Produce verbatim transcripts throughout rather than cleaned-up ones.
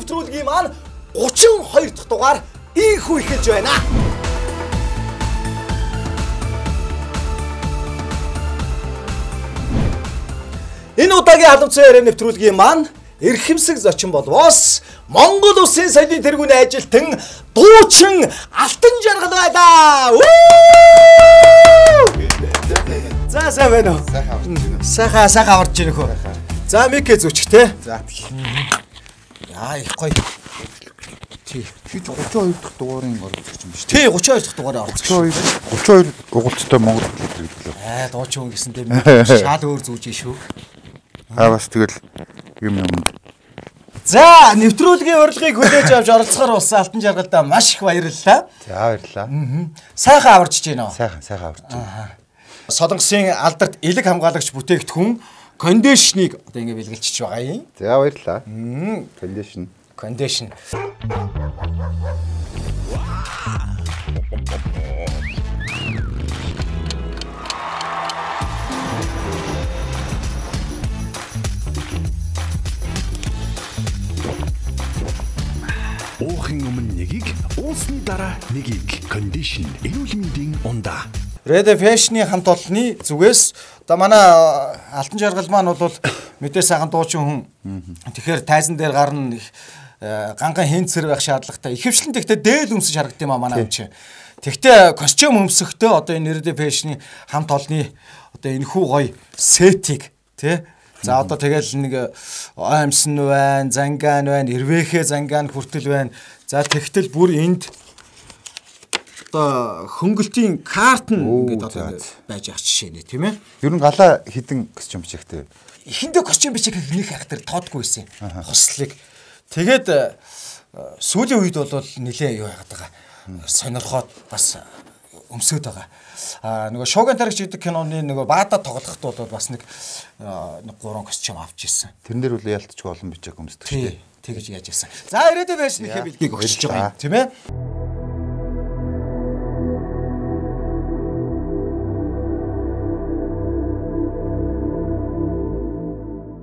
нэвтрүүлгийн маань гучин хоёр дахь дугаар ийхүү эхэлж байна. Энэ удаагийн халуун цай яриа нэвтрүүлгийн маань эрхэмсэг зочин болвоос Монгол Улсын соёлын тэргүүний ажилтан дуучин Алтан Жаргал байлаа. За сайн байна уу? Сайхан сайхан орж ирэх үү? За микэ зүчих те. За. Яа их гоё. Тий. Чи гучин хоёр дахь дугаарын оролцогч юм шүү. Тий гучин хоёр дахь дугаараа оролцогч. гучин хоёр угуулцтай Монгол хэлбэрлээ. Аа дуучин хүн гэсэн дээр шал өөр зүүж шүү. Аа бас тэгэл юм юм. За нэвтрүүлгийн урилгыг хүлээж авч оролцохоор болсон Алтан Жаргалдаа маш их баярлалаа. За баярлалаа. Сайхан аварчж байна уу? Сайхан сайхан аварч байна. Солонгосын алдарт элэг хамгаалагч бүтээгдэхүүн кондишныг одоо ингэ бэлгэлчих байгаа юм. За баярлалаа. Кондишн. Кондишн. Уухын өмнө нэгийг, уусны дараа нэгийг. Кондишн эрүүл мэндийн ундаа. Red Fashion-ы хамт олонны зүгээс одоо манай Алтан Жаргал маань бол мэдээ сайхан дуучин хүн. Тэгэхээр тайзан дээр гарна ганган хэнцэр байх шаардлагатай. Ихэвчлэн тэгтээ дээл өмсөж харагдсан юм а манай хүн чинь. Тэгтээ костюм өмсөхдөө одоо энэ Red Fashion-ы хамт олонны одоо энэ хүү гоё сетиг тий. За одоо тэгэл нэг аймсан байна, занган байна, ирвэхэ занган хүртэл байна. За тэгтэл бүр энд одоо хөнгөлтийн карт нь ингээд одоо байж ах жишээ нэ тийм ээ. Ер нь галаа хідэн костюм бичигтэй. Эхэндээ костюм бичих нэг хахтар тоодгүй байсан. Хослыг. Тэгээд сүүлийн үед бол нилээ юу яагаад байгаа. Сонирхоод бас өмсөд байгаа. А нөгөө Шоуган таригч гэдэг киноны нөгөө баада тоглоход бол бас нэг нэг гурван костюм авч ирсэн. Тэрэн дээр үл ялтчгүй олон бичиг өмсдөг шүү дээ. Тэгэж яаж ирсэн. За ирээдүйн байшныхээ бэлгийг өгч байгаа юм тийм ээ.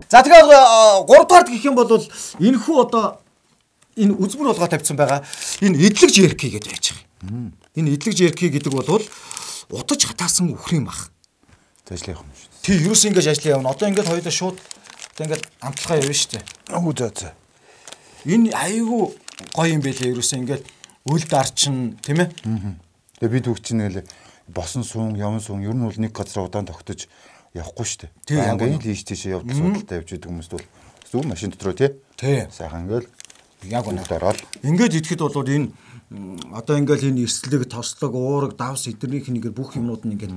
За тэгэхээр гурав дахь гэх юм бол энэ хүү одоо энэ үзмэр болгоо тавьсан байгаа. Энэ эдлэг жерки гэдэг байж байгаа. Энэ эдлэг жерки гэдэг бол утаж хатаасан үхрийн мах. Ажлын юм шүү. Тий, ерөөс ингэж ажлын явна. Одоо ингээд хоёулаа шууд одоо ингээд амтлахаа явна шүү дээ. Оо за за. Энэ айгүй гоё юм байлээ. Ерөөс ингээд үл дарчин тийм ээ. Тэгээ бид хүүхд чинь нэлээ босон суун, явн суун ер нь бол нэг газар удаан тогтож явахгүй шүү дээ. Тий, ингээд ийш тийшээ явдал судалтай явж идэг хүмүүст бол зөв машин дотроо тий. Тий. Сайхан ингээл яг үнэ ороод. Ингээд идэхэд бол энэ одоо ингээл энэ эрслэг, тослог, уураг, давс эднэрийнх нэгээр бүх юмнууд нь ингээд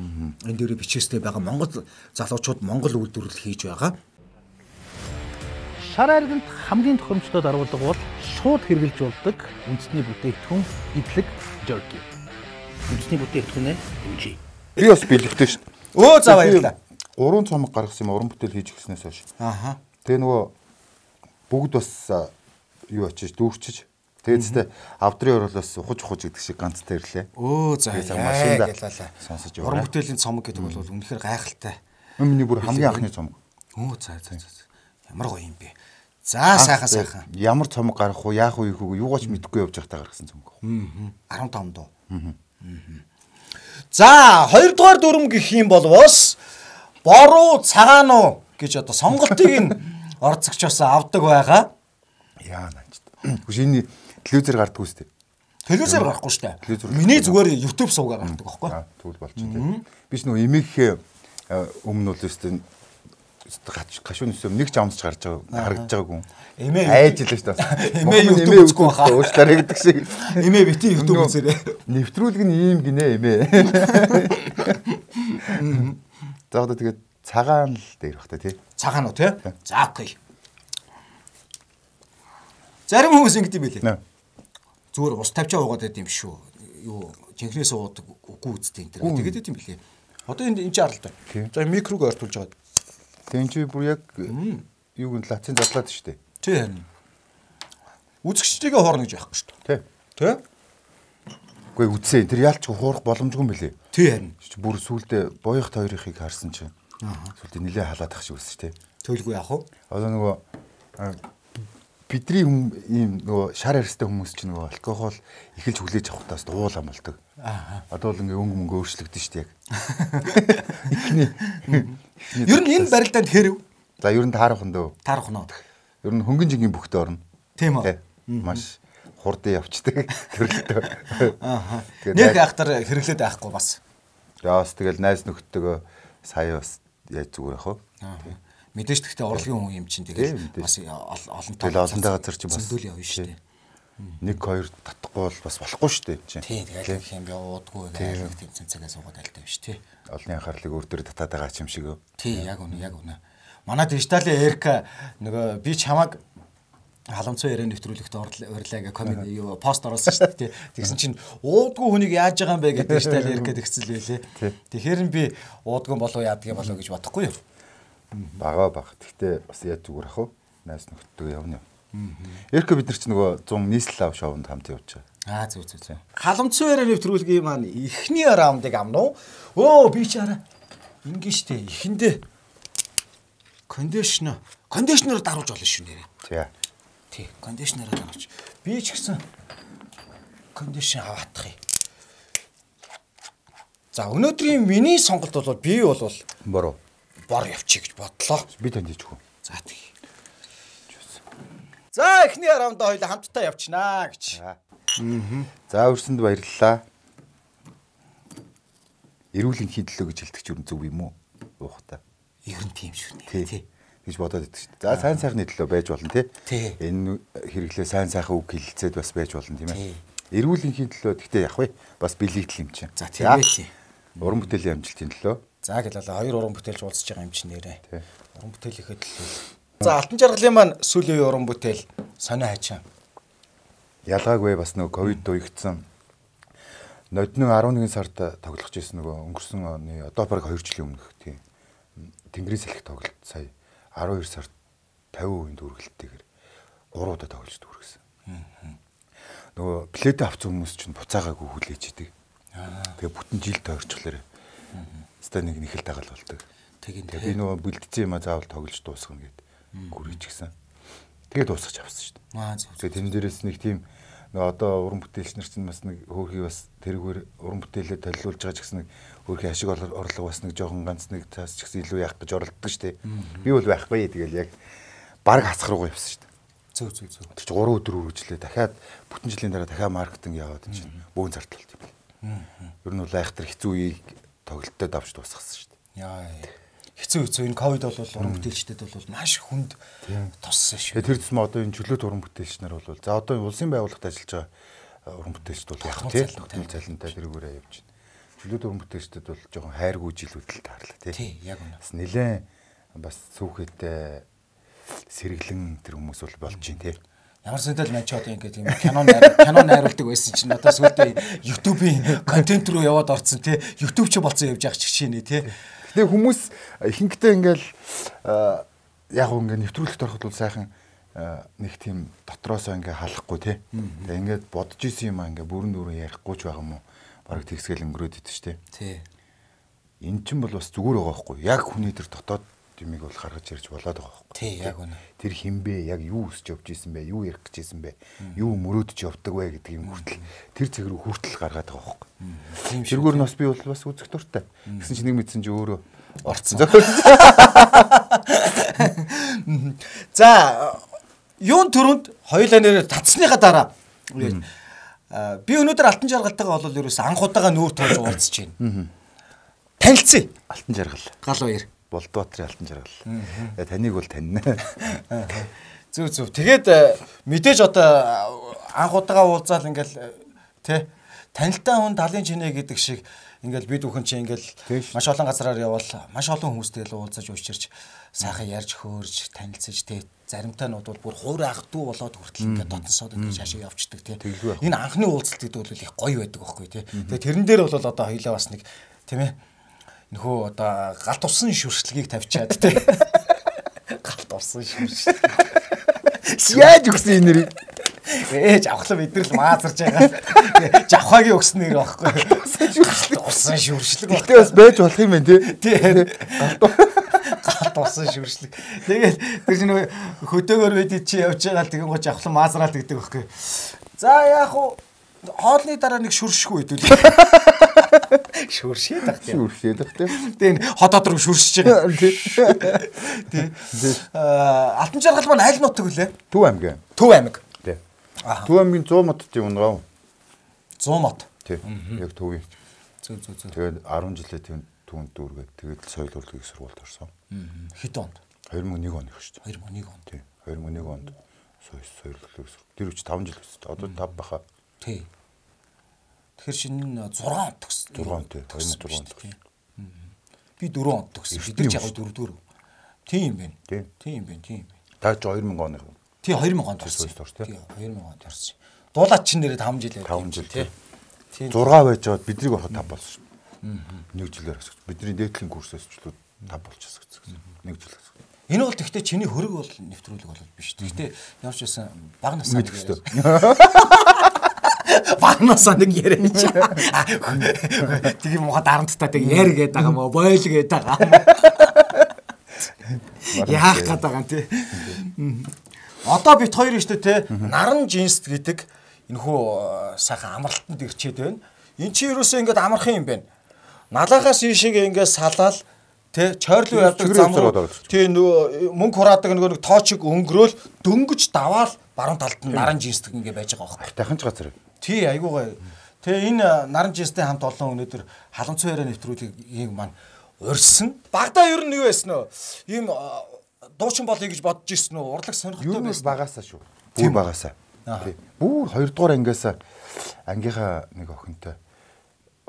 энэ дээрээ бичээстэй байгаа Монгол залуучууд Монгол үйлдвэрлэл хийж байгаа. Шар арганд хамгийн тохиромжтой дарвалга бол шууд хэрглэж болдог үндэсний бүтээгдэхүүн эдлэг жерки. Үндэсний бүтээгдэхүүн нь Би бас бэлэгтэй шүү. Өө за баярлалаа. Гурван цомог гаргасан юм уран бүтээл хийж гиснээс хойш. Ааха. Тэгээ нөгөө бүгд бас юу очиж дүүрчиж тэгээд авдрын оролоос ухаж ухаж гэдэг шиг ганцтай ирлээ. Өө за машинда ялалаа. сонсож Уран яваа. бүтээлийн цомог гэдэг бол үнэхээр гайхалтай. Миний бүр хамгийн анхны цомог. Өө за за за. Ямар гоё юм бэ. За сайхан сайхан. Ямар цомог гарах уу, яах уу, юу юугаач мэдэхгүй явж байхдаа гаргасан цомог. Аа. арван таван дуу. За хоёрдугаар дүрм гэх юм болвоос боруу цагаануу гэж одоо сонголтыг нь орцогч бас авдаг байгаа. Яа наач. Хүш энэ телевизээр гардггүй шүү дээ. Телевизээр гарахгүй шүү дээ. Миний зүгээр YouTube суугаар гардаг байхгүй. Тэгвэл болчихсон. Биш нөгөө эмээхээ өмнө бол өстэй гашуун өсөм нэг ч амсч гарч байгаа харагдаж байгааг юм. Эмээ айж илээ шүү дээ. Эмээ YouTube үзэхгүй хаа. Уучлаарай гэдэг шиг. Эмээ бити YouTube үзээрэй. Нэвтрүүлэг нь ийм гинэ эмээ. За одоо тэгээд цагаан л дээр бах та тий. Цагаан уу тий? За окей. Зарим хүмүүс ингэдэг юм билээ. Зүгээр ус тавьчаа уугаад байд юм шүү. Юу жинхнээс уудаг үгүй үсттэй энэ төр. Тэгээд байд юм билээ. Одоо энэ энэ чарлалтай. За микрог ойртуулж байгаа. Тэгин чи бүр яг юуг нь лацын задлаад шүү дээ. Тий харин. Үзэгчдийгээ хоорно гэж байхгүй шүү дээ. Тий? Үгүй үтсээ. Тэр яалч хуурах боломжгүй юм билээ. Тий харин. Бүр сүулдэ боёхт хоёрыг харсан чинь. Сүулдэ нилээ халаад ах шиг өссөн шүү дээ. Төлгүй яах вэ? Одоо нөгөө бидний ийм нөгөө шар арьстай хүмүүс чинь нөгөө алкогол эхэлж хүлээж авахтаас уулаа болдог. Аа. Одоо л ингээ өнгө мөнгө өөрчлөгдөн шүү дээ яг. Эхний. Ер нь энэ барилдаанд хэрв. За ер нь таарах нь дөө. Таарах нь. Ер нь хөнгөн жингийн бүхтээ орно. Тийм үү. Маш хурдан явцдаг төрөлтөө. Аа. Нэг ахтар хэрэглээд байхгүй бас. Яас тэгэл найз нөхдөдөө сая бас яаж зүгээр ах вэ? Аа. Мэдээж гэхдээ орлогын хүн юм чинь тэгээд бас олон тоо олонтой газар чи бас зөндөл явна шүү дээ. Нэг хоёр татахгүй бол бас болохгүй шүү дээ чинь. Тийм тэгээд их юм явуудгүй айлгт тэмцэн цагаас суугаад альтай биш тий. Олонний анхаарлыг өөр төр татаад байгаа юм шиг өө. Тий яг үнэ яг үнэ. Манай дижиталын Эрка нөгөө би чамаг халамцсан яриа нэвтрүүлэгт урьлаа гэ комент юу пост оруулсан шүү дээ. Тэгсэн чинь уудгүй хүнийг яаж байгаа юм бэ гэдэг дижитал Эрка тэгсэл байлээ. Тэгэхээр би уудгүй болов яадгийн болов гэж бодохгүй юу. Бага баг. Гэхдээ бас яаж зүгээр ах вэ? Найс нөхдөдөө явна юм. Эрка бид нар ч нөгөө зам нийслэл ав шоунд хамт явж байгаа. Аа зүг зүг зүг. Халамцсан яриа нэвтрүүлгийн маань эхний раундыг амнуу. Өө би ч араа ингэ штэ эхэндээ кондишнер кондишнер даруулж болно шүү нэрээ. Тий. Тий, кондишнероо даруулж. Би ч гэсэн кондишн аваадах юм. За өнөөдрийн миний сонголт бол би бол бороо бор явчих гэж бодлоо. Би танд хийж өгөө. За тий. За эхний раундаа хоёул хамтдаа явчихнаа гэж. Аа. За өрсөнд баярлалаа. Эрүүл энхийн төлөө гэж хэлдэг ч юу зөв юм уу? Уухта. Ер нь тийм шүү дээ. Тий. Гэж бодоод байдаг шүү дээ. За сайн сайхны төлөө байж болно тий. Энэ хэрэглээ сайн сайхан үг хэлэлцээд бас байж болно тийм ээ. Эрүүл энхийн төлөө гэхдээ яг вэ бас бэлэгдэл юм чинь. За тийм ээ тий. Уран бүтээлийн амжилтын төлөө. За гэлээ хоёр уран бүтээлж уулзж байгаа юм чинь нэрээ. Уран бүтээлийнхээ төлөө. За Алтан жаргалын маань сүүлийн уран бүтээл сонио хайчаа. Ялгаагүй бас нөгөө ковид уягдсан. Нодны арван нэгэн сард тоглох гэсэн нөгөө өнгөрсөн оны одоо бараг хоёр жилийн өмнөх тийм Тэнгэрийн салхи тоглолт сая арван хоёр сард тавин хувийн дүүргэлтэйгээр гурав удаа тоглож дүүргэсэн. Нөгөө пледэ авсан хүмүүс чинь буцаагаагүй хүлээж идэг. Тэгээ бүтэн жил тойрчлоо. Ста нэг нэхэл дагаал болдог. Тэгээ би нөгөө бэлдсэн юм а заавал тоглож дуусгах гэдэг гүрийч гисэн. Тэгээ дуусгаж авсан шүү дээ. Аа зөв. Тэгээ тэн дээрээс нэг тийм нөгөө одоо уран бүтээлч нар чинь бас нэг хөөрхий бас тэргээр уран бүтээлээ толиулж байгаа ч гэсэн нэг хөөрхий ашиг орлого бас нэг жоохон ганц нэг цаас ч гэсэн илүү яах гэж оролддог шүү дээ. Би бол байхгүй тэгэл яг баг хасах руугаа явсан шүү дээ. Зөв зөв зөв. Тэр чинь гурван өдөр үргэлжлээ. Дахиад бүтэн жилийн дараа дахиад маркетинг яваад чинь бөөн зарталт юм. Ер нь бол айхтар хэцүү үеийг тоглолттой давж дуусгасан шүү дээ. Яа. Хэцүү хэцүү энэ ковид бол уран бүтээлчдэд бол маш хүнд туссан шүү. Тэр төсмө одоо энэ чөлөөт уран бүтээлч нар бол за одоо улсын байгууллагад ажиллаж байгаа уран бүтээлчд бол яг тийм цалинтай тэрүүгээрээ явж байна. Чөлөөт уран бүтээлчдэд бол жоохон хайргүй жилүүд л таарлаа тий. Яг үнэ. Бас нэлээд бас цөөхөтэй сэргэлэн тэр хүмүүс бол болж байна тий. Ямар сэнтэл мань ч одоо ингээд юм кино кино найруулдаг байсан чинь одоо сүүлдээ YouTube-ийн контент руу яваад орцсон тий. YouTube ч болцсон явж байгаа ч гişнэ тий. Тэгээ хүмүүс ихэнхдээ ингээл яг ингээ нэвтрүүлэгт ороход бол сайхан нэг тийм дотроосоо ингээ халахгүй тий. Тэгээ ингээд бодож исэн юм аа ингээ бүрэн дүүрэн ярихгүй ч байгаа юм уу? Бараг тэгсгэл өнгөрөөд идэв штэ. Тий. Эн чинь бол бас зүгээр байгаа байхгүй. Яг хүний тэр дотоод юмыг бол гаргаж ирж болоод байгаа байхгүй. Тий, яг үнэ. Тэр хинбэ, яг юу өсч явж исэн бэ? Юу ярих гэж исэн бэ? Юу мөрөөдөж явдаг вэ гэдэг юм хүртэл тэр цэг рүү хүртэл гаргаад байгаа байхгүй. Тийм шүү. Тэргээр нь бас би бол бас үзэх дуртай. Гэсэн чинь нэг мэдсэн чи өөрөө орцсон. За, юун төрөнд хоёулаа нэр татсныхаа дараа би өнөөдөр Алтан жаргалтайгаа бол ерөөс анх удаага нүүр тоолж уулзж байна. Танилцъя. Алтан жаргал. Гал баяр. Болдбоотрын Алтан жаргал. Таныг бол таньна. Зүг зүг. Тэгээд мэдээж одоо анх удаага уулзаал ингээл тий танилтай хүн талын чинээ гэдэг шиг ингээл бид бүхэн чи ингээл маш олон газараар явбал маш олон хүмүүстэй л уулзаж уучирч сайхан ярьж хөөрж танилцаж тий заримтайнууд бол бүр хуур ах дүү болоод хүртэл ингээд дотносоод ингээд шашаа явчихдаг тий. Энэ анхны уулзалт гэдэг бол их гоё байдаг байхгүй тий. Тэгээ тэрэн дээр бол одоо хоёлаа бас нэг тийм ээ нөхөө одоо галт усан шүршилгийг тавьчаад тий. Галт усан шүршил. Яаж өгсөн энэ нэрийг? Ээж авахлаа бид нар л маазарж байгаа. Жавхагийн өгсөн нэр байхгүй. Усан шүршил. Усан шүршилэг багтаа бас байж болох юм байна тий. Галт Тусан шүршлэг. Тэгээд тэр чинь хөдөөгөр бид чи явж байгаа л тэгэн гоч авахлан маазраал гэдэг байхгүй. За яах вэ? Хоолны дараа нэг шүршгүй хэдүүл. Шүршээд баг тийм. Шүршээд баг тийм. Тэгээд хотод руу шүршиж байгаа. Тийм. Аа Алтан жаргал маань аль нутаг вүлээ? Төв аймаг. Төв аймаг. Тийм. Төв аймгийн сто мод тийм унгаа. сто мод. Тийм. Яг төвийн. Зүг зүг зүг. Тэгээд арван жилээ тийм түүнд дүүргээд тэгээд соёл урлагийн сургуульд орсон. Хэд онд? two thousand one онд шүү дээ. two thousand one онд. Тийм. two thousand one онд соёл соёл урлагийн сургууль. Тэр үуч five жил гэсэн. Одоо five баха. Тий. Тэгэхээр шинэ six он төгсөн. six он тий. two thousand six онд төгсөн. Би four он төгсөн. Бид яг four дөрөв. Тийм юм байна. Тийм юм байна. Тийм юм байна. Та two thousand оны. Тий two thousand онд орсон. Тий two thousand онд орсон. Дуулаад чинь нэрээ five жил five жил тий. Тийм. six байж байгаад биднийг ороход five болсон шүү. Нэг жилээр асууж. Бидний дээдлийн курсээс ч л five болчихсон гэсэн. Нэг жил. Энэ бол тэгтээ чиний хөрөг бол нэвтрүүлэг бол биш. Тэгтээ явж байсан баг насаа мэдэх ёстой. Баг насаа нэг яриач. Тэгээ муха дарамттай тэг яар гээд байгаа мó бойл гээд байгаа. Яах гээд байгаа юм те. Одоо бит хоёр нь шүү дээ те. Наран жинс гэдэг энэхүү сайхан амралтанд ирчээд байна. Эн чи юусоо ингэж амархан юм байна. Налахаас ийшээ ингэж салаал тэ чойрлуу явдаг зам руу тий нөгөө мөнгө хураадаг нөгөө нэг тоочиг өнгөрөөл дөнгөж даваал баруун талд нь наран жинсдэг ингэ байж байгаа байхгүй. Тахын ч газар. Тий айгуугаа. Тэгээ энэ наран жинстэй хамт олон өнөөдөр халамцсан яриа нэвтрүүлгийг маань урьсан. Багада ер нь юу байсан нөө? Ийм дуучин болъё гэж бодож ирсэн нөө? Урлаг сонирхолтой байсан. Юу багасаа шүү. Бүр багасаа. Тий. Бүр хоёр дугаар ангиас ангийнхаа нэг охинтой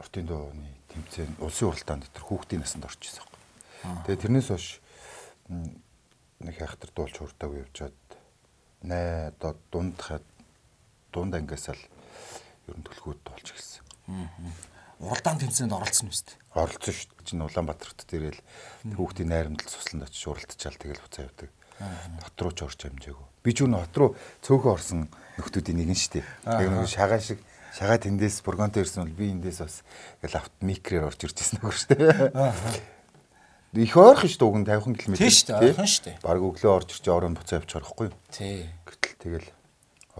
уртын дууны тэмцээн улсын уралдаанд тэр хүүхдийн насанд орж ирсэн. Тэгээ тэрнээс хойш нэг хайхтар дуулж хурдаагүй явжгаад нэ одоо дунд дунд ангиасаа л ер нь төлхөөд дуулж эхэлсэн. Уралдаан тэмцээнд оролцсон юм шүү дээ. Оролцсон шүү дээ. Чинь Улаанбаатарт тэргээл хүүхдийн найрамдал сусланд очиж уралдчихал тэгэл буцаа явдаг. Хот руу ч орж амжаагүй. Би ч үн хот руу цөөхөн орсон нөхдүүдийн нэг нь шүү дээ. Яг нэг шагаа шиг шагаа тэндээс бургонтой ирсэн бол би эндээс бас ингээл авт микрээр орж ирж ирсэн нөгөө шүү дээ. Их ойрхон шүү дээ уг нь fifty км. Тийм шүү дээ, ойрхон шүү дээ. Бараг өглөө орж ирж орон буцаа явчих орохгүй юу? Тий. Гэтэл тэгэл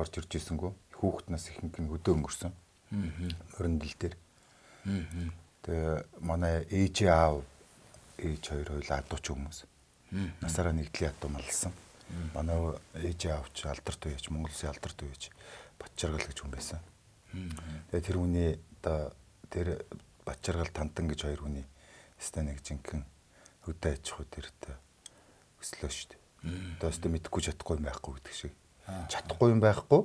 орж ирж ирсэнгүү хүүхэд нас ихэнх нь өдөө өнгөрсөн. Аа. Мөрөндөл дээр. Аа. Тэгээ манай ээж аав ээж хоёр хоёул адууч хүмүүс. Насаараа нэгдлийн адуу малсан. Манай ээж аав ч алдарт үеч Монгол Улсын алдарт үеч Батчаргал гэж хүн байсан. Тэгээ тэр хүний одоо тэр Батчаргал Тантан гэж хоёр хүний өстэй нэг жинхэнэ хөдөө аж ахуй тэртээ өслөө шүү дээ. Одоо өстө мэдхгүй чадахгүй юм байхгүй гэдэг шиг. Чадахгүй юм байхгүй.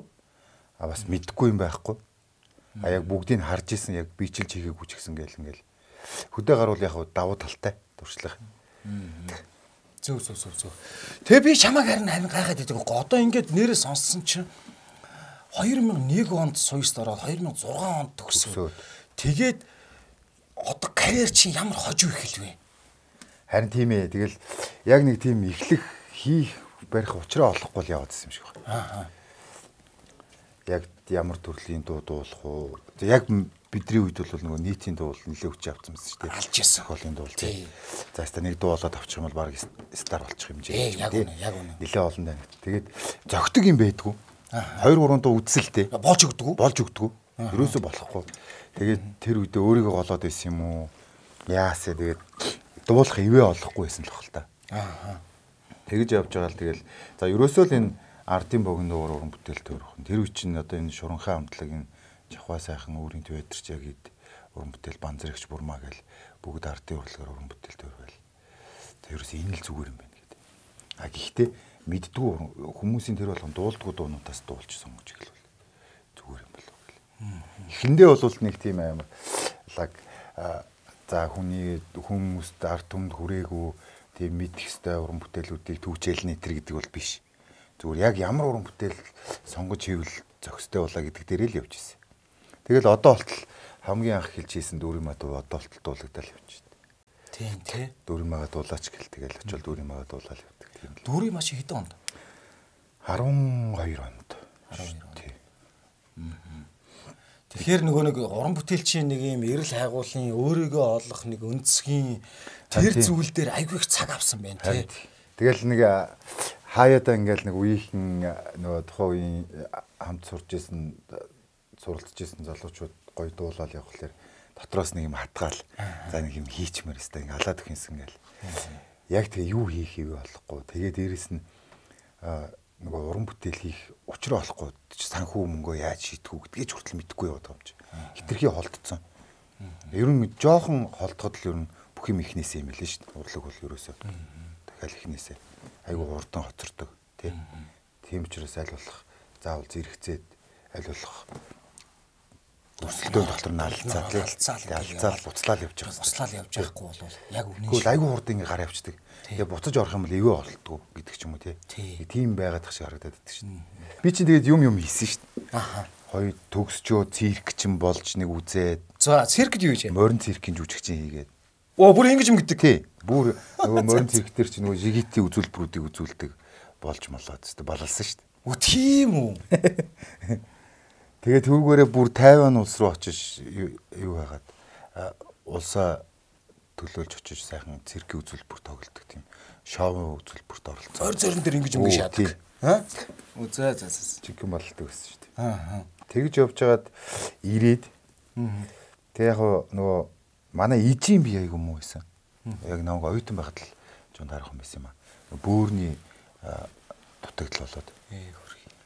А бас мэдхгүй юм байхгүй. А яг бүгдийг харж исэн яг бичилж хийгээгүй ч гэсэн гээл ингээл хөдөө гаруул яг давуу талтай туршлага. Зөв зөв зөв зөв. Тэгээ би чамайг харин харин гайхаад байдаг. Одоо ингээд нэрээ сонссон чинь two thousand one онд суйст ороод two thousand six онд төгсөө. Тэгээд одоо карьер чинь ямар хожуу ихэлвэ? Харин тийм ээ. Тэгэл яг нэг тийм эхлэх хийх барих учраа олохгүй л яваад байсан юм шиг байна. Аа. Яг ямар төрлийн дуу дуулах уу? Яг бидний үед бол нөгөө нийтийн дуу нэлээд хүч авсан байсан шүү дээ. Алж ясан хоолын дуу тий. За хаста нэг дуу болоод авчих юм бол баг стар болчих юм жий. Яг үнэ, яг үнэ. Нэлээд олон байна. Тэгээд зөгтөг юм байдгүй. Хоёр гурван дуу үзэлтэй. Болж өгдөг үү? Болж өгдөг. Ерөөсөө болохгүй. Тэгээд тэр үедээ өөрийгөө голоод байсан юм уу? Яасаа тэгээд дуулах ивэ олохгүй байсан л бахал та. Аа. Тэгэж явж байгаа л тэгэл за ерөөсөө л энэ ардын богино дуугар уран бүтээл төрөх. Тэр үе чинь одоо энэ шуранхай хамтлаг энэ Жахва сайхан өөрийн театрч яг ид уран бүтээл банзрагч бурмаа гэл бүгд ардын урлагаар уран бүтээл төрвөл. За ерөөсөө энэ л зүгээр юм байна гэдэг. А гэхдээ мэддгүй хүмүүсийн тэр болгон дуулдгүй дуунуудаас дуулчихсан гэж хэлвэл зүгээр юм болов гэл. Эхэндээ бол нэг тийм амар лаг за хүний хүмүүст ард түмэнд хүрээгүй тийм мэдэх ёстой уран бүтээлүүдийг түүчээл нэтэр гэдэг бол биш. Зүгээр яг ямар уран бүтээл сонгож хийвэл зохистой болоо гэдэг дээрээ л явж ирсэн. Тэгэл одоо болтол хамгийн анх хэлж хийсэн дүүрийн маа дуу одоо болтол дуулагдал явж байна. Тийм тий. Дүүрийн маа дуулаач гэл тэгэл очил дүүрийн маа дуулаад явдаг тийм л. Дүүрийн маа чи хэдэн онд? twelve онд. twelve онд. Тий. Тэгэхээр нөгөө нэг уран бүтээлчийн нэг юм эрэл хайгуулын өөрийгөө олох нэг өнцгийн тэр зүйл дээр айгүй их цаг авсан байна тий. Тэгэл нэг хаяада ингээл нэг үеийнхэн нөгөө тухайн үеийн хамт сурж исэн суралцж исэн залуучууд гоё дуулаад явхлаэр дотроос нэг юм хатгаал за нэг юм хийчмээр өстой ингээ халаад өгнсөн гээл. Яг тэгээ юу хийх вэ болохгүй. Тэгээ дээрэс нь нөгөө уран бүтээл хийх учраа олохгүй санхүү мөнгөө яаж шийдэх үү гэдгийг ч хүртэл мэдэхгүй яваад байгаа юм чи. Хитрхи холдсон. Ер нь жоохон холдоход л ер нь бүх юм ихнээсээ юм лээ шүү дээ. Урлаг бол ерөөсөө дахиад ихнээсээ айгүй хурдан хоцордог тий. Тийм учраас аль болох заавал зэрэгцээд аль болох өрсөлдөөн дотор нь алцаа тий. Алцаал буцлаад явж байгаа. Буцлаад явж байхгүй бол яг үнэн шүү. Гэхдээ айгүй хурдан ингээ гар явчихдаг. Тэгээ буцаж орох юм бол эвээ олддгоо гэдэг ч юм уу тий. Тийм байгаад тах шиг харагдаад байдаг шүү. Би чинь тэгээд юм юм хийсэн шүү. Аха. Хоёр төгсчөө цирк чинь болж нэг үзээд. За циркд юу хийж вэ? Морин циркийн жүжигчин хийгээд. Оо бүр ингэж юм гэдэг. Тий. Бүр нөгөө морин цирк дээр чинь нөгөө жигитийн үзүүлбэрүүдийг үзүүлдэг болж молоод тест балалсан шүү. Оо тийм үү. Тэгээд түүгээрээ бүр Тайван улс руу очиж юу хагаад улсаа төлөөлж очиж сайхан циркийн үзүүлбэр тоглодог тийм шоу үзүүлбэрт оролцсон. Зор зорин дээр ингэж юм шаадаг. Аа? Оо за за за. Чигэн болдог байсан шүү дээ. Аа. Тэгж явж хагаад ирээд. Тэг яг нөгөө манай ижийн би айгу муу байсан. Яг намайг оюутан байхад л жоон дарах юм байсан юм аа. Бөөрний дутагдал болоод.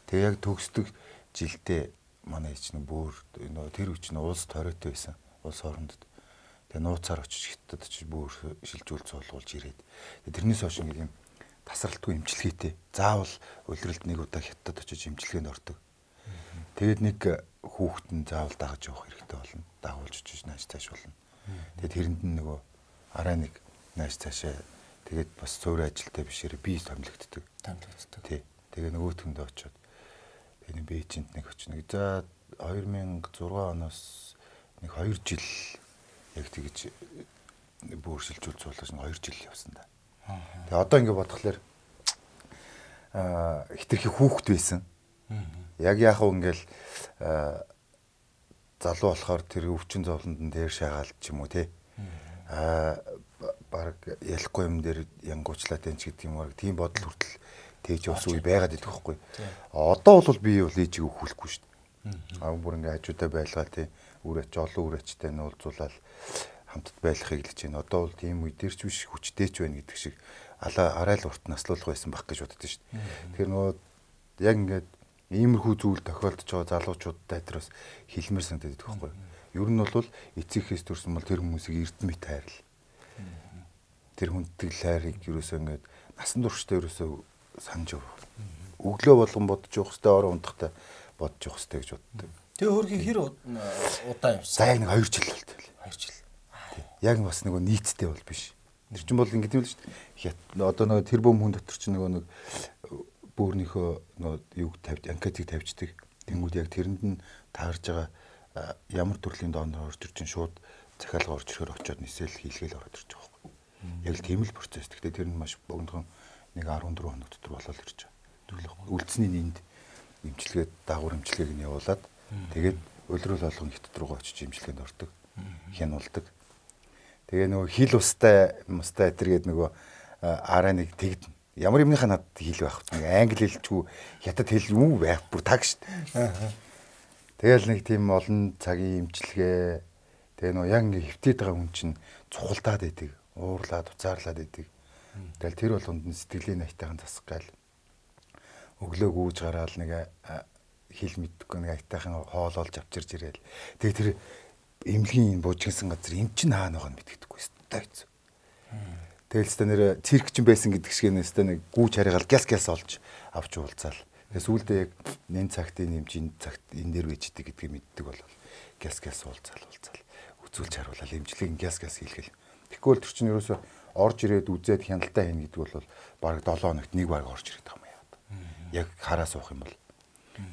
Тэг яг төгсдөг жилдээ манай ич нэг бөөр нөгөө тэр үуч нь улс тойроотой байсан. Улс хоорондод. Тэгээ нууцаар очиж хятад очиж бөөр шилжүүл цуулуулж ирээд. Тэрнээс хойш нэг юм тасралтгүй имчилгээтэй. Заавал улиралд нэг удаа хятад очиж имчилгээнд ордог. Тэгээд нэг хүүхэд нь заавал дагаж явах хэрэгтэй болно. Дагуулж очиж нааш цааш болно. Тэгээд тэрэнд нь нөгөө араа нэг нааш цаашаа тэгээд бас цөөрийн ажилтай бишээр би томилогддог. Томилогддог. Тий. Тэгээ нөгөөтгөндөө очиод энэ Бээжинд нэг очиж нэг за две тысячи шесть оноос нэг хоёр жил яг тэгж бүр шилжүүл цуулж нэг хоёр жил явсан да. Тэгээ одоо ингэ бодглохлоор аа хитрхи хүүхэд байсан. Яг яах вэ ингээл залуу болохоор тэр өвчин зовлонд нь дээр шаагаал ч юм уу те. Аа баг ялахгүй юм дээр янгуучлаад энэ ч гэдэг юм уу тийм бодол хүртэл тэгж ус үе байгаад идэх байхгүй. Одоо бол би бол ээжийг өхүүлэхгүй шүү дээ. Аа бүр ингээ хажуудаа байлгаа тий үрээч олон үрээчтэй нь уулзуулаад хамтд байлгахыг хэлж байна. Одоо бол тийм үе дээр ч биш хүчтэй ч байна гэдэг шиг алаа арайл урт наслуулах байсан баг гэж боддоо шүү дээ. Тэгэхээр нөгөө яг ингээд иймэрхүү зүйл тохиолдож байгаа залуучуудтай тэрс хэлмээр санагдаад идэх байхгүй. Ер нь бол эцэгхээс төрсөн бол тэр хүмүүсийг эрдэмэд хайрл. Тэр хүнддэг хайрыг ерөөсөө ингээд насан туршдаа ерөөсөө санаж өг. Өглөө болгон бодож явах хэвээр орон ундахтай бодож явах хэвээр гэж боддог. Тэгээ өөрхийн хэр удаа явсан? За яг нэг хоёр жил болтой. хоёр жил. Яг бас нөгөө нийтдээ бол биш. Тэр чинь бол ингэдэм л шүү дээ. Одоо нөгөө тэр бөм хүн дотор чинь нөгөө нэг бөөрнийхөө нөгөө юг тавьж анкетыг тавьждаг. Тэнгүүд яг тэрэнд нь таарж байгаа ямар төрлийн донор орж ирж чинь шууд захиалга орж ирэхээр очиод нисэл хийлгээл ороод ирж байгаа байхгүй. Яг л тийм л процесс. Гэхдээ тэр нь маш богинохон нэг дөрвөн хоног дотор болоод ирж байгаа. Тэглэх үлдсний нэнд имчилгээд дагавар имчилгээг нь явуулаад тэгээд улирал болгоно хятад руугаа очиж имчилгээнд ордог. Хянуулдаг. Тэгээ нөгөө хил устай мустай этэргээд нөгөө араа нэг тэгдэн. Ямар юмныхаа надад хэл байх вэ? Англи хэлчгүй хятад хэл юу байх бүр таг штт. Тэгэл нэг тийм олон цагийн имчилгээ тэгээ нөгөө яг ингэ хөвтөд байгаа хүн чинь цухалдаад байдаг. Уурлаад уцаарлаад байдаг. Тэгэл тэр болгонд нь сэтгэлийн айтайхан засах гал өглөө гүүж гараал нэг хэл мэддэггүй нэг айтайхан хоол олж авчирж ирээл. Тэгээ тэр эмнэлгийн буужгинсан газар эм чин хаана байгаа нь мэддэггүй өстой хэцүү. Тэгэл өстой нэр цирк чин байсан гэдэг шиг нэ өстой нэг гүүж хараагаал гяс гяс олж авч уулзаал. Тэгээ сүүлдээ яг нэн цагт энэ эмчин цагт энэ дэр вэждэг гэдгийг мэддэг бол гяс гяс уулзаал уулзаал үзүүлж харуулаад эмчилгээг гяс гяс хийлгэл. Тэгвэл тэр чинь ерөөсөө орж ирээд үзээд хяналтаа хийнэ гэдэг бол баг долоо хоногт нэг баг орж ирээд байгаа юм яа. Яг хараа суух юм бол.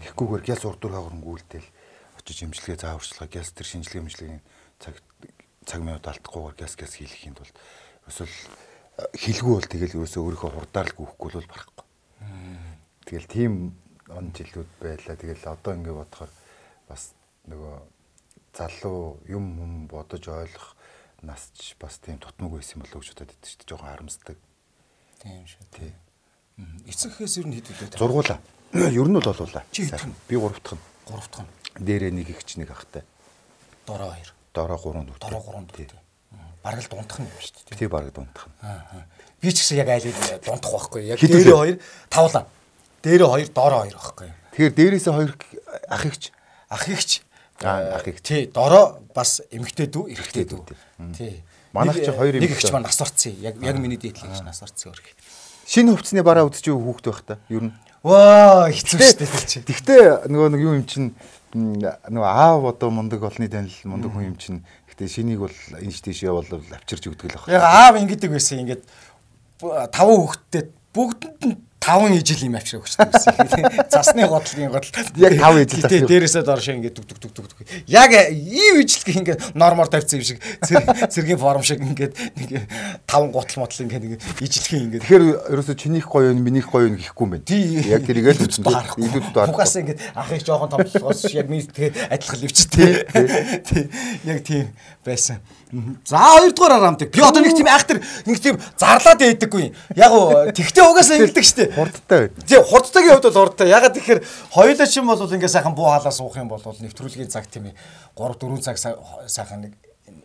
Тэгхгүйгээр гяс урдуур хаагрангүүлтэл очиж имчилгээ зааварчлага гяс тэр шинжилгээ имчилгээний цаг цаг минут алдахгүйгээр гяс гяс хийх юм бол ерөөсөө хэлгүй бол тэгэл ерөөсөө өөрийнхөө хурдаар л гүйхгүй бол барахгүй. Тэгэл тийм он жилүүд байлаа. Тэгэл одоо ингэ бодохоор бас нөгөө залуу юм юм бодож ойлгох нас ч бас тийм тутмаг байсан болов уу гэж бодод байдаг шүү дээ. Жохон харамсдаг. Тийм шүү. Тий. Эцэгхээс ер нь хэд үлээ. Зургуулаа. Ер нь бол болуулаа. Чи хэд вэ? Би гурав дахь нь. Гурав дахь нь. Дээрээ нэг ихч нэг ахтай. Дороо хоёр. Дороо гурван дүү. Дороо гурван дүү. Бараг л дундах нь юм шүү дээ. Тий бараг дундах нь. Аа. Би ч гэсэн яг айлыг дундах байхгүй. Яг дээрээ хоёр тавлаа. Дээрээ хоёр, дороо хоёр байхгүй. Тэгэхээр дээрээсээ хоёр ах ихч. Ах ихч. Аа ах ихч. Тий, дороо бас эмэгтэй дүү, эрэгтэй дүү. Тий. Манайх чи хоёр нэг ихч маань нас орцсон. Яг яг миний дээдлийг гэж нас орцсон өрх. Шинэ хувцсны бараа үдчих хүүхэд байх та. Ер нь. Ваа, хэцүү шүү дээ чи. Тэгтээ нөгөө нэг юу юм чин нөгөө аав одоо мундаг олны танил мундаг хүн юм чин. Гэтэ шинийг бол энэш тийш явуулал авчирч өгдөг л баг. Яг аав ингэдэг байсан. Ингээд таван хүүхэдтэй бүгдэнд нь таван ижил юм авчирч өгчдөг байсан. Цасны годлын годл. Яг таван ижил засдаг. Дээрээсээ доршоо ингээд дүг дүг дүг дүг. Яг ив ижилх ингээд нормоор тавьсан юм шиг цэргийн форм шиг ингээд нэг таван гутал мотл ингээд нэг ижилх ингээд. Тэгэхээр ерөөсө чинийх гоё юм минийх гоё юм гэхгүй юм байна. Яг тэрийг л үзсэн. Илүүд даа. Угаас ингээд ахыг жоохон томтлохоос яг минь тэгээ адилхан ливчтэй. Тий. Яг тийм байсан. За хоёрдугаар арамдаг. Би одоо нэг тийм айхтар нэг тийм зарлаад байдаггүй. Яг уу тэгтээ угаасаа ингэдэг штэ. Хурдтай. Тий, хурдтайгийн хувьд бол хурдтай. Ягаад тэгэхээр хоёулаа чинь бол ингээ сайхан буу халаа суух юм бол нэвтрүүлгийн цаг тийм ээ три дөрвөн цаг сайхан нэг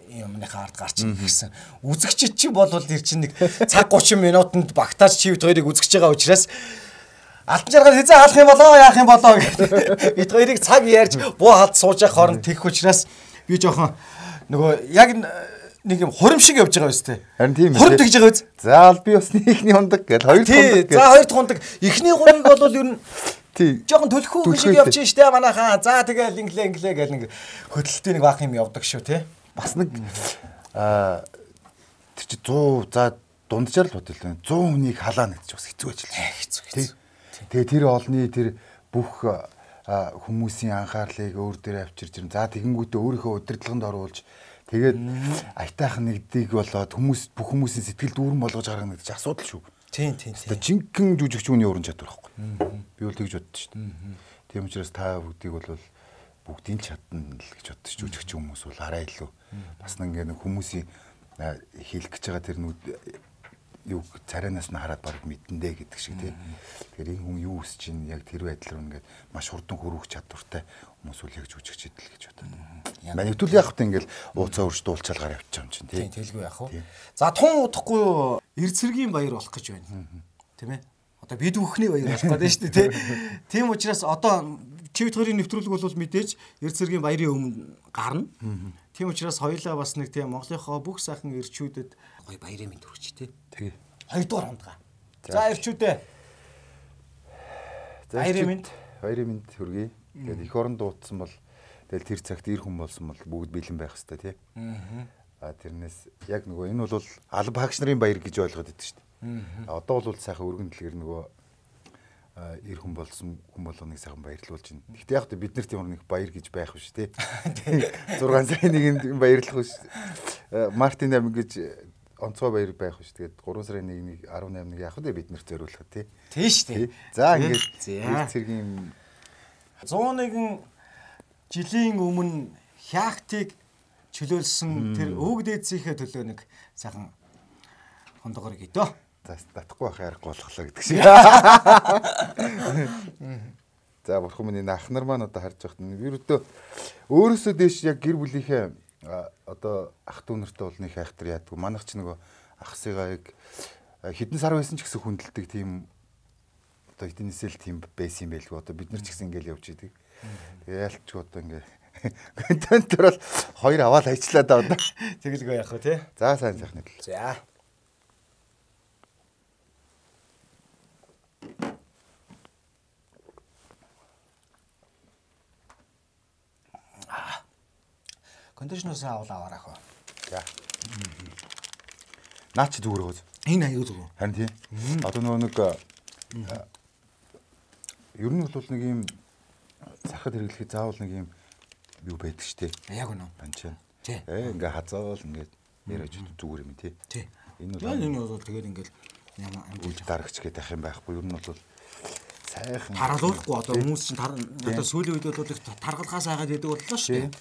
юмныхаа ард гарч ирэх гэсэн. Үзэгчид чинь бол ир чинь нэг цаг гучин минутанд багтааж чивд хоёрыг үзэж байгаа учраас алтан жаргал хязаа хаалах юм болоо яах юм болоо гэдэг. Бид хоёрыг цаг ярьж буу халд сууж явах хооронд тэгэх учраас би жоохон нөгөө яг нэг юм хурим шиг явж байгаа биз дээ. Харин тийм ээ. Хурим тэгж байгаа биз. За аль би бас нэгний хундаг гэж хоёр дахь хундаг. За хоёр дахь хундаг. Эхний хурыг бол ер нь тий. Жохон төлхөө шиг явж штэ манайхаа. За тэгэл инглээ инглээ гэл нэг хөдөлтөй нэг баах юм явдаг шүү те. Бас нэг аа тэр чи сто за дунджаар л бодъё л сто хүнийг халаана гэж бас хэцүү ажил. Хэцүү хэцүү. Тэгээ тэр олны тэр бүх хүмүүсийн анхаарлыг өөр дээр авчирч ирэн. За тэгэнгүүтээ өөрийнхөө удирдлаганд оруулж тэгээд айтайхан нэгдийг болоод хүмүүс бүх хүмүүсийн сэтгэл дүүрэн болгож гаргана гэдэг чинь асуудал шүү. Тийм тийм тийм. Тэгээд жинхэнэ жүжигчүүний уран чадвар байхгүй. Би бол тэгж боддоо шүү дээ. Тийм учраас та бүгдийг бол бүгдийн чадна л гэж боддоо шүү. Жүжигч хүмүүс бол арай илүү бас нэг нэг хүмүүсийн хэлэх гэж байгаа тэр нүд юу царайнаас нь хараад баг мэдэндээ гэдэг шиг тийм. Тэгэхээр энэ хүн юу хүсэж чинь яг тэр байдлаар ингээд маш хурдан хөрвөх чадвартай хүмүүс үл яг жүжигч идэл гэж боддог. Манайвтул яг хөтэ ингээд ууцаа өрж дуулчаалгаар явчих юм чинь тийм. Тийм тэлгүй яах вэ? За тун удахгүй Эрцэргийн баяр болох гэж байна. Тийм ээ. Одоо бид бүхний баяр болох гэдэг шүү дээ тийм. Тийм учраас одоо чивд хоёрын нэвтрүүлэг бол мэдээж Эрцэргийн баярын өмнө гарна. Тийм учраас хоёулаа бас нэг тийм Монголынхоо бүх сайхан эрчүүдэд гоё баярын мэнд хүрч тийм. Тэгээ. Хоёрдугаар хундгаа. За эрчүүдээ. Баярын мэнд. Баярын мэнд хүргэе. Тэгээд эх орон дуудсан бол тэгэл тэр цагт ир хүн болсон бол бүгд бэлэн байх хэрэгтэй тий. Аа. Тэрнээс яг нөгөө энэ бол алба хагч нарын баяр гэж ойлгоод байдаг шүү дээ. Аа. Одоо бол сайхан өргөн дэлгэр нөгөө ир хүн болсон хүн болгоныг сайхан баярлуулж байна. Гэхдээ яг бид нарт ямар нэг баяр гэж байх биш тий. зургаан сарын нэгэнд баярлах биш. Мартин амин гэж онцгой баяр байх биш. Тэгээд гурван сарын нэгний арван наймныг яах вэ бид нарт зориулах тий. Тийм шүү дээ. За ингээд цэргийн зуун нэгэн жилийн өмнө хяактыг чөлөөлсөн тэр өвөг дээдсийнхээ төлөө нэг сайхан хондогоор гэдөө. За татахгүй байх арга болохлоо гэдэг шиг. За бурхан миний ах нар маань одоо харж байхад нь ерөөдөө өөрөөсөө дэш яг гэр бүлийнхээ одоо ах дүү нартай бол нэг хайхтар яадгүй. Манайх ч нөгөө ахсыгаа яг хэдэн сар байсан ч гэсэн хүндэлдэг тийм одоо эднээсэл тийм байсан юм байлгүй. Одоо бид нар ч гэсэн ингээл явж идэг. Тэгээ ялч одоо ингээ контентор бол хоёр аваад хайчлаа да одоо. Тэгэлгүй яах вэ те? За сайн сайхны л. За. Кондишнерс аваад аваарах уу. За. Наа чи зүгээр гоц. Энэ аюу зүг. Харин тийм. Одоо нөгөө нэг ер нь бол нэг юм сахад хэрэглэхэд заавал нэг юм юу байдаг штэ. Яг үнэ. Анчаа. Тий. Э ингээ хазаавал ингээд яриж зүгээр юм тий. Тий. Энэ бол энэ бол тэгээд ингээл ямар амжилт дарагч гэдэг ах юм байхгүй. Ер нь бол сайхан таргалуулахгүй одоо хүмүүс чинь одоо сүүлийн үед бол таргалгаас айгаад идэг боллоо шүү дээ.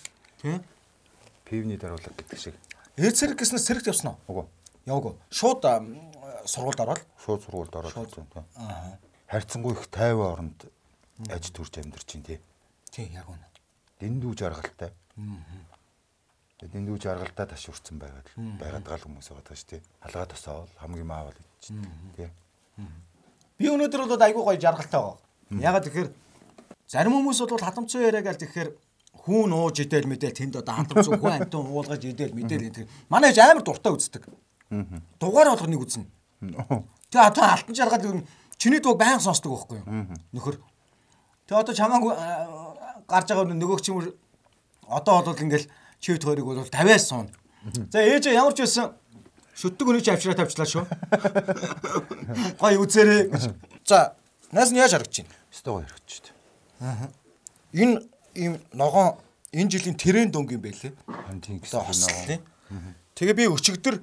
Тий. пивний даруулга гэдэг шиг. Эр цэрэг гэснээр цэрэгт явсан уу? Үгүй. Яваагүй. Шууд сургуульд ороод. Шууд сургуульд ороод тийм. Аа. Харьцангуй их тайван оронд аж төрж амьдарч чинь тий. Тий, яг үнэ. Дэндүү жаргалтай. Аа. Дэндүү жаргалтай ташуурсан байгаад байгаад гал хүмүүс байгаа даа шүү тий. Халгаа тосоол хамгийн маавал чинь тий. Би өнөөдөр бол айгүй гоё жаргалтай байгаа. Ягаад тэгэхээр зарим хүмүүс бол хадамцсан яриа гээл тэгэхээр хүүн ууж идэл мэдээл тэнд одоо хадамцсан хүн амтан уулгаж идэл мэдээл гэдэг. Манай ээж амар дуртай үздэг. Дугаар болгоныг үзнэ. Тэгээ одоо алтан жаргал юу чиний дууг байнга сонсдог байхгүй юу? Нөхөр. Тэгээ одоо чамааг гарч байгаа нөгөөч юм одоо бол ингээл чивд хоёрыг бол тавиас суун. За ээж ямар ч байсан шүтдэг өнөч авчраа тавьчлаа шүү. Гой үзээрэй. За наас нь яаж харагдаж байна? Өстой гоё харагдаж шүү. Аа. Энэ ийм ногоон энэ жилийн тренд өнгө юм байлээ. Тийм гэсэн ногоон. Тэгээ би өчигдөр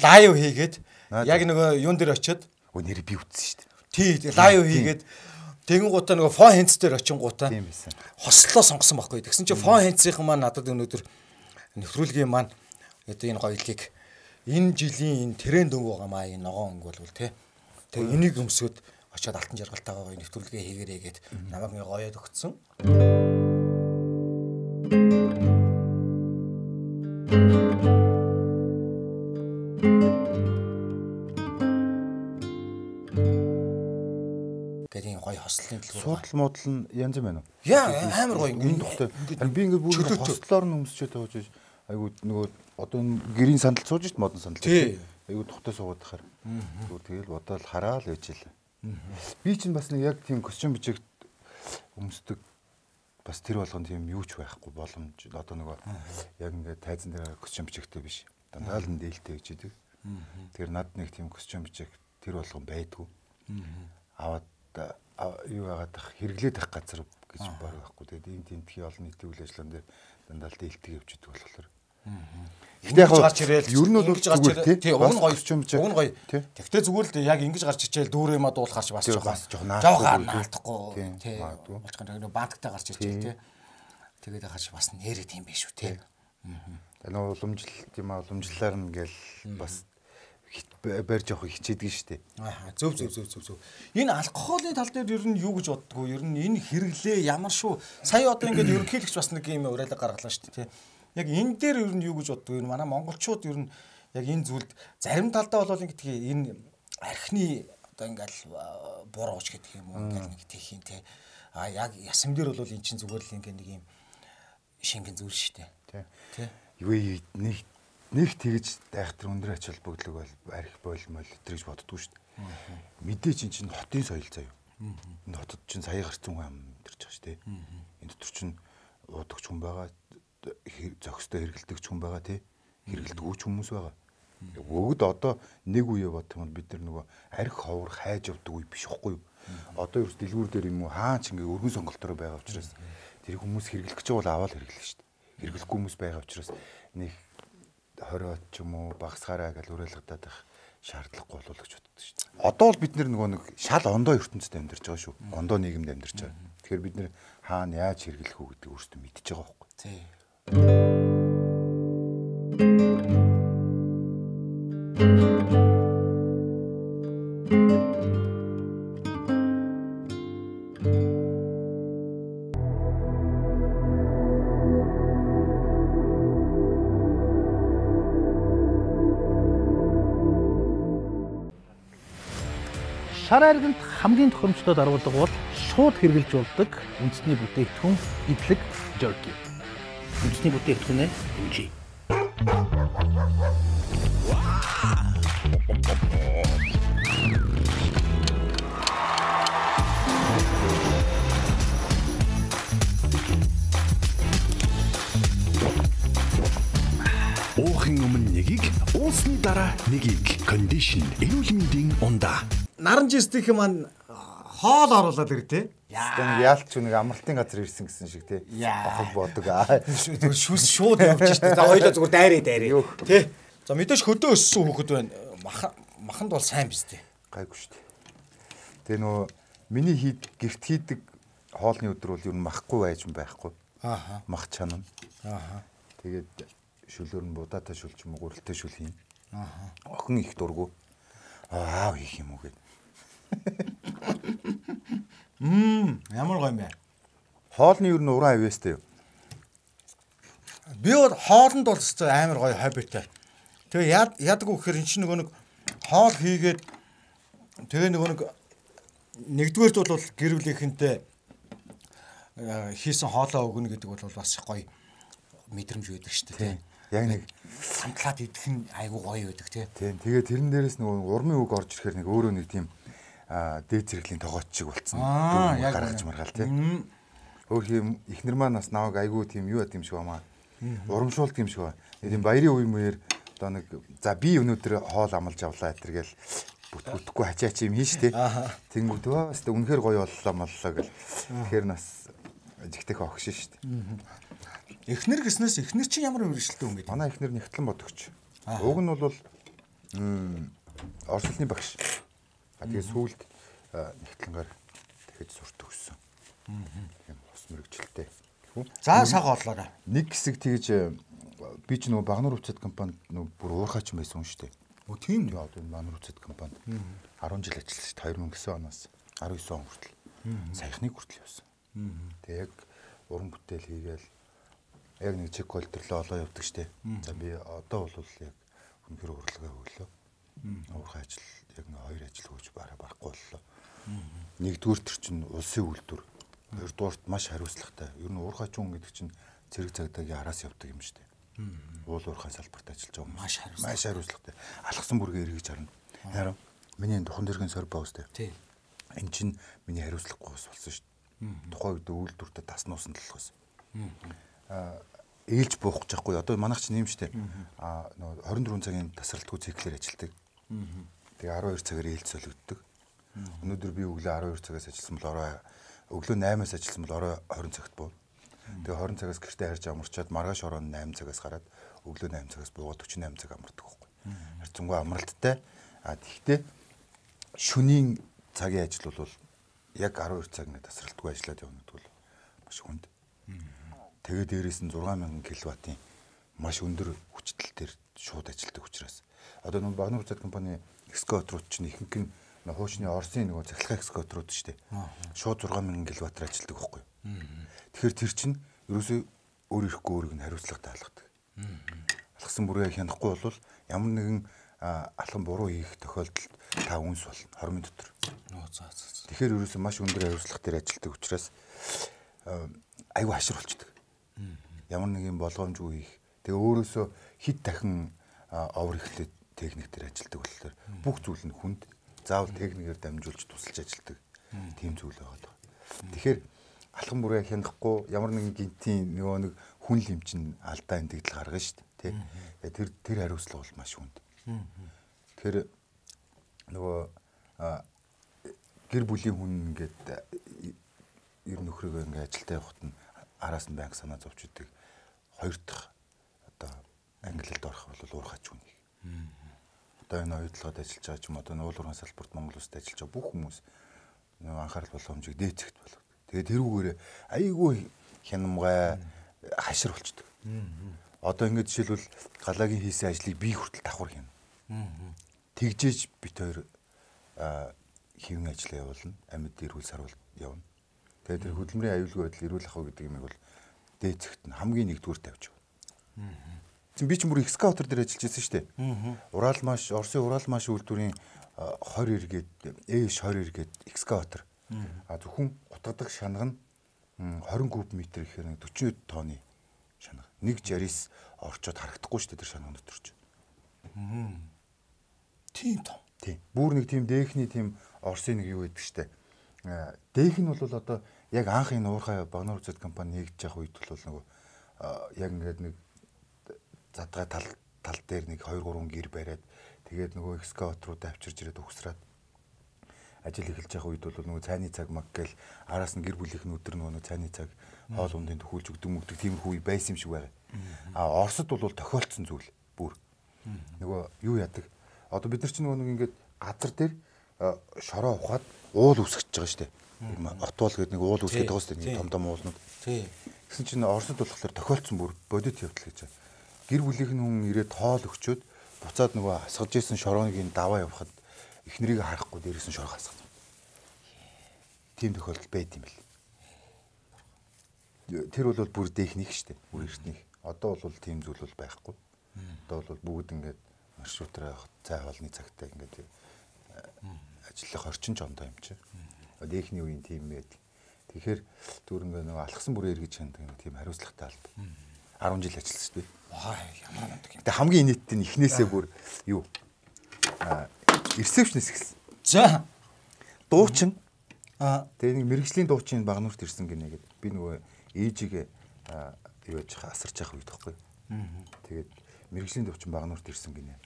лайв хийгээд яг нөгөө юун дээр очиод өө нэр би үтсэн шүү. Тий, лайв хийгээд тэгэн гутаа нөгөө фон хенц дээр очин гутаа хослоо сонгосон байхгүй. Тэгсэн чинь фон хенцийнхэн маань надад өнөөдөр нэвтрүүлгийн маань одоо энэ гоёлыг энэ жилийн энэ тренд өнгө байгаа маа энэ ногоон өнгө бол тий. Тэгээ энийг өмсөд очиод алтан жаргалтайгаа гоё нэвтрүүлгээ хийгээрэй гэд намайг ингээ гоёод өгсөн. Гэдэг гоё хослолын төлөв. Суудл модл нь янз юм байна уу? Яа амар гоё энэ тухтай. Би ингээ бүр хослоор нь өмсчээд байгаа ч айгуу нөгөө одоо энэ гэрийн сандал сууж шít модон сандал. Айгуу тухтай суугаад тахаар. Зүгээр тэгэл бодоол хараал ээжлээ. Би чинь бас нэг яг тийм костюм бичигт өмсдөг бас тэр болгон тийм юу ч байхгүй боломж одоо нөгөө яг ингээд тайзан дээр костюм бичигтэй биш. Дандаа л нээлттэй гэж идэг. Тэр над нэг тийм костюм бичиг тэр болгон байдгүй. Аваад юу яагаад хэрэглээд ах газар гэж баг байхгүй. Тэгээд ийм тентхий олон нийтийн үйл ажиллагаан дээр дандаа л дээлтийг явж идэг болохоор. Гэхдээ яг гарч ирээл ер нь бол зүгээр тий уг нь гоё юм чи уг нь гоё. Тэгтээ зүгээр л яг ингэж гарч ичээл дүүрээ ма дуулахарч бас жоохон жоохон наалтахгүй тий болчихсон нэг банктай гарч ичээл тий тэгээд гарч бас нэрээ тийм биш шүү тий. Аа нөө уламжлал тийм аа уламжлалаар нь гээл бас барьж явах хичээдэг шүү дээ. Аа зөв зөв зөв зөв зөв. Энэ алкоголын тал дээр ер нь юу гэж боддгоо ер нь энэ хэрэглээ ямар шүү сая одоо ингээд ерөнхийлөгч бас нэг юм уриалга гаргалаа шүү дээ тий. Яг энэ дээр ер нь юу гэж боддгоо энэ манай монголчууд ер нь яг энэ зүйлд зарим талдаа бол ингээд энэ архины одоо ингээл бурууч гэдэг юм уу ингээд нэг тийх юм те а яг ясам дээр бол эн чинь зүгээр л ингээд нэг юм шингэн зүйл шүү дээ тий. Юу нэг нэг тэгж дайхтар өндөр ач холбогдлого бол арх болмол өтрэж боддгоо шүү дээ. Мэдээж эн чинь хотын соёл заяа. Энэ хотод чинь сая гарцсан хүн амьдарч байгаа шүү дээ. Энэ дотор чинь уудагч хүн байгаа зохистой хэрэгэлдэг хүн байгаа тий. Хэрэгэлдэг үуч хүмүүс байгаа. Өгд одоо нэг үе бодох юм бол бид нар нөгөө арх ховор хайж явдаг үе биш байхгүй юу? Одоо ерөөс дэлгүүр дээр юм уу хаа ч ингээ өргөн сонголтоор байгаа учраас тэр хүмүүс хэрэглэх гэж бол аваад хэрэглэх шүү дээ. Хэрэглэхгүй хүмүүс байгаа учраас нэг хорой ч юм уу багсгаараа гэж уриалгадаад байх шаардлагагүй болов гэж боддог шүү дээ. Одоо бол бид нөгөө нэг шал ондоо ертөнцид амьдарч байгаа шүү. Ондоо нийгэмд амьдарч байгаа. Тэгэхээр бид нэр хаана яаж хэрэглэх үү гэдэг өөрсдөө мэдчихэж байгаа байхгүй. Тий. Шар арганд хамгийн тохиромжтой даруулга бол шууд хэрглэж болдог үндэсний бүтээгдэхүүн идэлэг жерки. Үндэсний бүтээгдэхүүнээ хэмжээ. Уухийн өмнө нэгийг, уусны дараа нэгийг кондишн эрүүл мэндийн ундаа. Наран жистих маань хоол оруулаад ир тий. Яа. Яалч нэг амралтын газар ирсэн гэсэн шиг тий. Бохог бодог аа. Шүс шууд явж штэ. За хоёлоо зүгээр дайраа дайраа. Тий. За мэдээж хөдөө өссөн хүүхэд байна. Маханд бол сайн биз дээ. Гайгүй штэ. Тэгээ нөө миний хийд гэрт хийдэг хоолны өдөр бол ер нь махгүй байж юм байхгүй. Ааха. Мах чанам. Ааха. Тэгээд шүлөөр нь будаатай шүл ч юм уу гурилтай шүл хийн. Аа. Охин их дургу. Аа хийх юм уу гэд. Мм, ямар гоё юм бэ? Хоолны ер нь уран авьяастай юу? Би бол хоолнд бол өстой амар гоё хоббитэй. Тэгээ яд ядаг уу гэхээр эн чинь нөгөө нэг хоол хийгээд тэгээ нөгөө нэг нэгдүгээрт бол гэр бүлийнхэнтэй хийсэн хоолоо өгнө гэдэг бол бас гоё мэдрэмж байдаг шүү дээ. Яг нэг самтлаад идэх нь айгүй гоё байдаг тий. Тийм. Тэгээ тэрэн дээрээс нөгөө урмын үг орж ирэхээр нэг өөрөө нэг тийм дээд зэрэглийн тогооч шиг болцсон. Аа, яг гаргаж маргаал тий. Өөр хим ихнэр маань бас наваг айгүй тийм юу яд юм шиг бамаа. Урамшуулт юм шиг ба. Тийм баярын үе мөр одоо нэг за би өнөөдөр хоол амлаж авлаа гэтэргээл бүтгэхгүй хачаач юм хийн штэ. Тэнгүүд бас үнэхээр гоё боллоо моллоо гэл. Тэгэхээр нас жигтэх огш штэ. Эхнэр гэснээс эхнэр чинь ямар мэрэгчлээ юм бэ? Манай эхнэр нэгтлэн бодогч. Уг нь бол орчлын багш. А тэгээ сүүлд нэгтлэнгаар дахиж сурт өгсөн. Тийм ус мэрэгчлээ. За саг олоорой. Нэг хэсэг тэгж би ч нөгөө Багнуур Уцад компанид нөгөө бүр уурхаач байсан юм шүү дээ. Өө тийм үү? Одоо Багнуур Уцад компанид арван жил ажилласан шүү дээ. две тысячи девять оноос арван девять он хүртэл. Саяхныг хүртэл явсан. Тэгээ яг уран бүтээл хийгээл яг нэг чек колтерлоо олоо явдаг шүү дээ. За би одоо бол яг үнэхээр урлагаа өглөө. Уурхай ажил яг нэг хоёр ажил хөөж бараа барахгүй боллоо. Нэгдүгээр төр чинь улсын үйлдвэр. Хоёрдугаарт маш хариуцлагатай. Ер нь уурхайч хүн гэдэг чинь цэрэг цагдаагийн араас явдаг юм шүү дээ. Уул уурхай салбарт ажиллаж байгаа юм. Маш хариуцлагатай. Маш хариуцлагатай. Алхсан бүргээ эргэж харна. Харин миний духан дэргийн сор боостэй. Тийм. Энд чинь миний хариуцлагагүй ус болсон шүү дээ. Тухайн үед үйлдвэртээ тас нуусан талхаас. Аа ээлж буухгүй жахгүй. Одоо манайх чинь юм шүү дээ. Аа нөгөө хорин дөрвөн цагийн тасралтгүй циклээр ажилладаг. Тэгээ арван хоёр цагаар ээлж солигддог. Өнөөдөр би өглөө арван хоёр цагаас ажилласан бол орой өглөө наймаас ажилласан бол орой двадцать цагт буу. Тэгээ двадцать цагаас гэртээ харж амарчаад маргааш орой найман цагаас гараад өглөө найман цагаас буугаад forty eight цаг амардаг байхгүй. Харцангуй амралттай. А тэгтээ шөнийн цагийн ажил бол яг арван хоёр цагны тасралтгүй ажиллаад явна гэдэг бол маш хүнд. Тэгээ дээрээс нь six thousand киловаттын маш өндөр хүчтэй төр шууд ажилладаг учраас одоо нэг Багнуур Уцад компани экскаваторууд чинь ихэнх нь хуучны Оросын нөгөө цахилгаан экскаваторууд шүү дээ. Шууд six thousand киловаттаар ажилладаг байхгүй. Тэгэхээр тэр чинь ерөөсөө өөр ирэхгүй өөрийг нь хариуцлагатай алгадаг. Алгасан бүрээ хянахгүй бол ямар нэгэн алхан буруу хийх тохиолдолд та үнс болно хормын дотор. Тэгэхээр ерөөсөө маш өндөр хариуцлагатай ажилладаг учраас айгүй хашир болчдөг. Ямар нэг юм болгоомжгүй хийх. Тэгээ өөрөөсөө хит дахин овор ихлээд техник дээр ажилладаг болохоор бүх зүйл нь хүнд заавал техникээр дамжуулж тусалж ажилладаг тийм зүйл байгаа. Тэгэхээр алхан бүрээ хянахгүй ямар нэгэн гинтийн нөгөө нэг хүн лим чин алдаа эндэгдэл гаргана шүү дээ. Тэ. Тэр тэр хариуцлага бол маш хүнд. Тэгэхээр нөгөө гэр бүлийн хүн ингээд ер нөхрөөгөө ингээд ажилдаа явахад нь араас нь банк санаа зовч идэг. Хоёр дахь одоо англилд орох бол уурхач хүн. Одоо энэ оюутлогод ажиллаж байгаа ч юм одоо уул уурхай салбарт Монгол улсад ажиллаж байгаа бүх хүмүүс нөгөө анхаарал болгоомжийг дээцэгт болов. Тэгээ тэрүүгээр айгүй хянамгай хашир болчдөг. Одоо ингэж жишээлбэл галагийн хийсэн ажлыг би хүртэл давхар хийнэ. Тэгжээж бит хоёр хэвэн ажиллаа явуулна. Амьд эрүүл сарвал явна. Тэгээ тэр хөдөлмөрийн аюулгүй байдал эрүүл ах гэдэг юм бол дээцэгт нь хамгийн нэгдүгээр тавьж байна. Би ч бүр экскаватор дээр ажиллаж байсан шүү дээ. Урал маш Оросын Урал маш үйлдвэрийн twenty эргээд ээш twenty эргээд экскаватор. А зөвхөн утгадаг шанага нь twenty куб метр гэхээр forty тонны шанага. Нэг жарис орчоод харагдахгүй шүү дээ тэр шанагын дотор ч. Тийм том. Тийм. Бүр нэг тийм дээхний тийм Оросын нэг юу гэдэг шүү дээ. Дэх нь бол одоо яг анх энэ уурхай Багнуур Уцад компани нэгдэж явах үед бол нөгөө яг ингээд нэг задгай тал тал дээр нэг two three гэр бариад тэгээд нөгөө экскаваторууд авчирж ирээд угсраад ажил эхэлж явах үед бол нөгөө цайны цаг маг гээл араас нь гэр бүлийнх нь өдөр нөгөө цайны цаг хоол ундын төхүүлж өгдөг мөгдөг тиймэрхүү байсан юм шиг байгаа. А Оросд бол тохиолдсон зүйл бүр. Нөгөө юу яадаг? Одоо бид нар чинь нөгөө нэг ингээд газар дээр шороо ухаад уул үсгэж байгаа шүү дээ. Отвол гэдэг нэг уул үсгээд байгаа шүү дээ. Том том уулнууд. Тий. Гэсэн чинь Оросд болохоор тохиолдсон бүр бодит явдал гэж байна. гэр бүлийнх нь хүн ирээд тоол өгчөөд буцаад нөгөө асгаж исэн шорооныгийн даваа явахад эхнэрийг харахгүй дээрээс нь шороо хасгав. Тийм тохиолдол байд юм бэл. Тэр бол бүр техник шүү дээ. Бүр эртнийх. Одоо бол тийм зүйл бол байхгүй. Одоо бол бүгд ингээд маршрутраа цай хоолны цагтаа ингээд ажиллах орчин ч ондоо юм чи. Эхний үеийн тийм байдаг. Тэгэхээр зүгээр ингээд нөгөө алхсан бүрээр гэж хандаг тийм хариуцлагатай алба. арван жил ажилласан шүү дээ. Аа ямар нэмдэг юм. Тэгээ хамгийн нийттэй нь эхнээсээ бүр юу ресепшнээс эхэлсэн. За дуучин аа тэгээ нэг мэрэгжлийн дуучин Багнуурт ирсэн гинэ гэдэг. Би нөгөө ээжигээ юу яж асарч явах үед тахгүй. Тэгээд мэрэгжлийн дуучин Багнуурт ирсэн гинэ.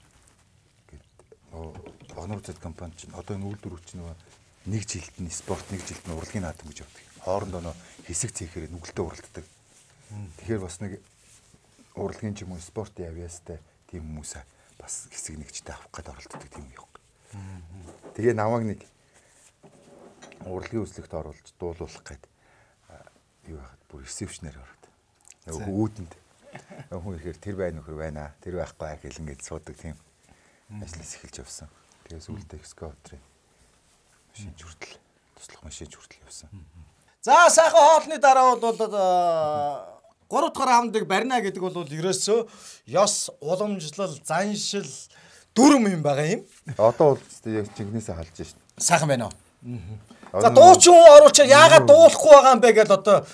Гэт нөгөө Багнуур зэт компани чинь одоо энэ үйлдвэрүүд чинь нөгөө нэг жилд нь спорт, нэг жилд нь урлагийн наадам гэж явдаг. Хоорондоо нөө хэсэг цэхээр нүгэлтэд уралддаг. Тэгэхээр бас нэг урлагийн ч юм уу спорт явьяастай тийм хүмүүсээ бас хэсэг нэгжтэй авах гээд оролддог тийм юм. Тэгээ намайг нэг урлагийн үзлэгт оруулж дуулуулах гээд юу яхад бүр ресепшнээр ороод. Нөгөө үүдэнд хүн ихээр тэр байна нөхөр байна. Тэр байхгүй хэлэн гээд суудаг тийм ажлаас эхэлж явсан. Тэгээ сүултээ экскаваторын машин хүртэл туслах машин хүртэл явсан. За сайхан хоолны дараа бол гурав дахь хамтыг барина гэдэг бол ерөөсөө ёс, уламжлал, заншил дүрм юм байгаа юм. Одоо бол яг жигнэсээ халж шин. Сайхан байна уу? За дуучин хүн оруулчаа яагаад дуулахгүй байгаа юм бэ гэж одоо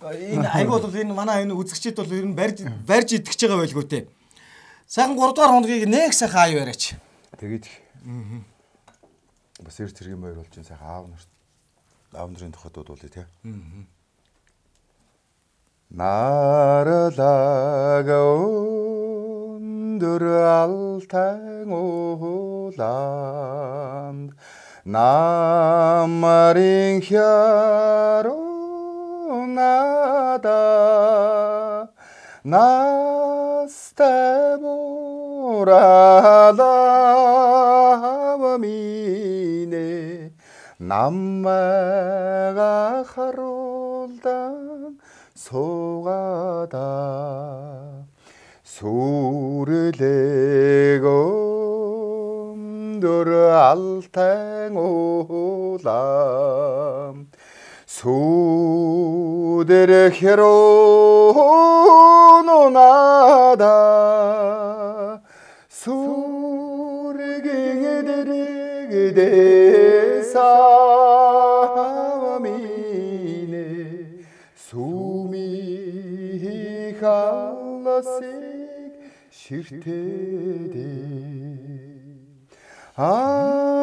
энэ айгүй бол энэ манай энэ үзэгчид бол ер нь барьж барьж итгэж байгаа байлгүй те. Сайхан гурав дахь хоногийг нэг сайхан аяа яриач. Тэгээд бас эр цэргийн баяр болж сайхан аав нарт аав нарын тухайд дуулъя те. Наралага өндөр алтан ууланд намарын хярунада настай муралавамине наммага харуулдан суугада сүрэлэг өндөр алтан уулам сүдэр херунунада сүргэн эдэрэгдээсамине сүми халасыг ширтэдэ аа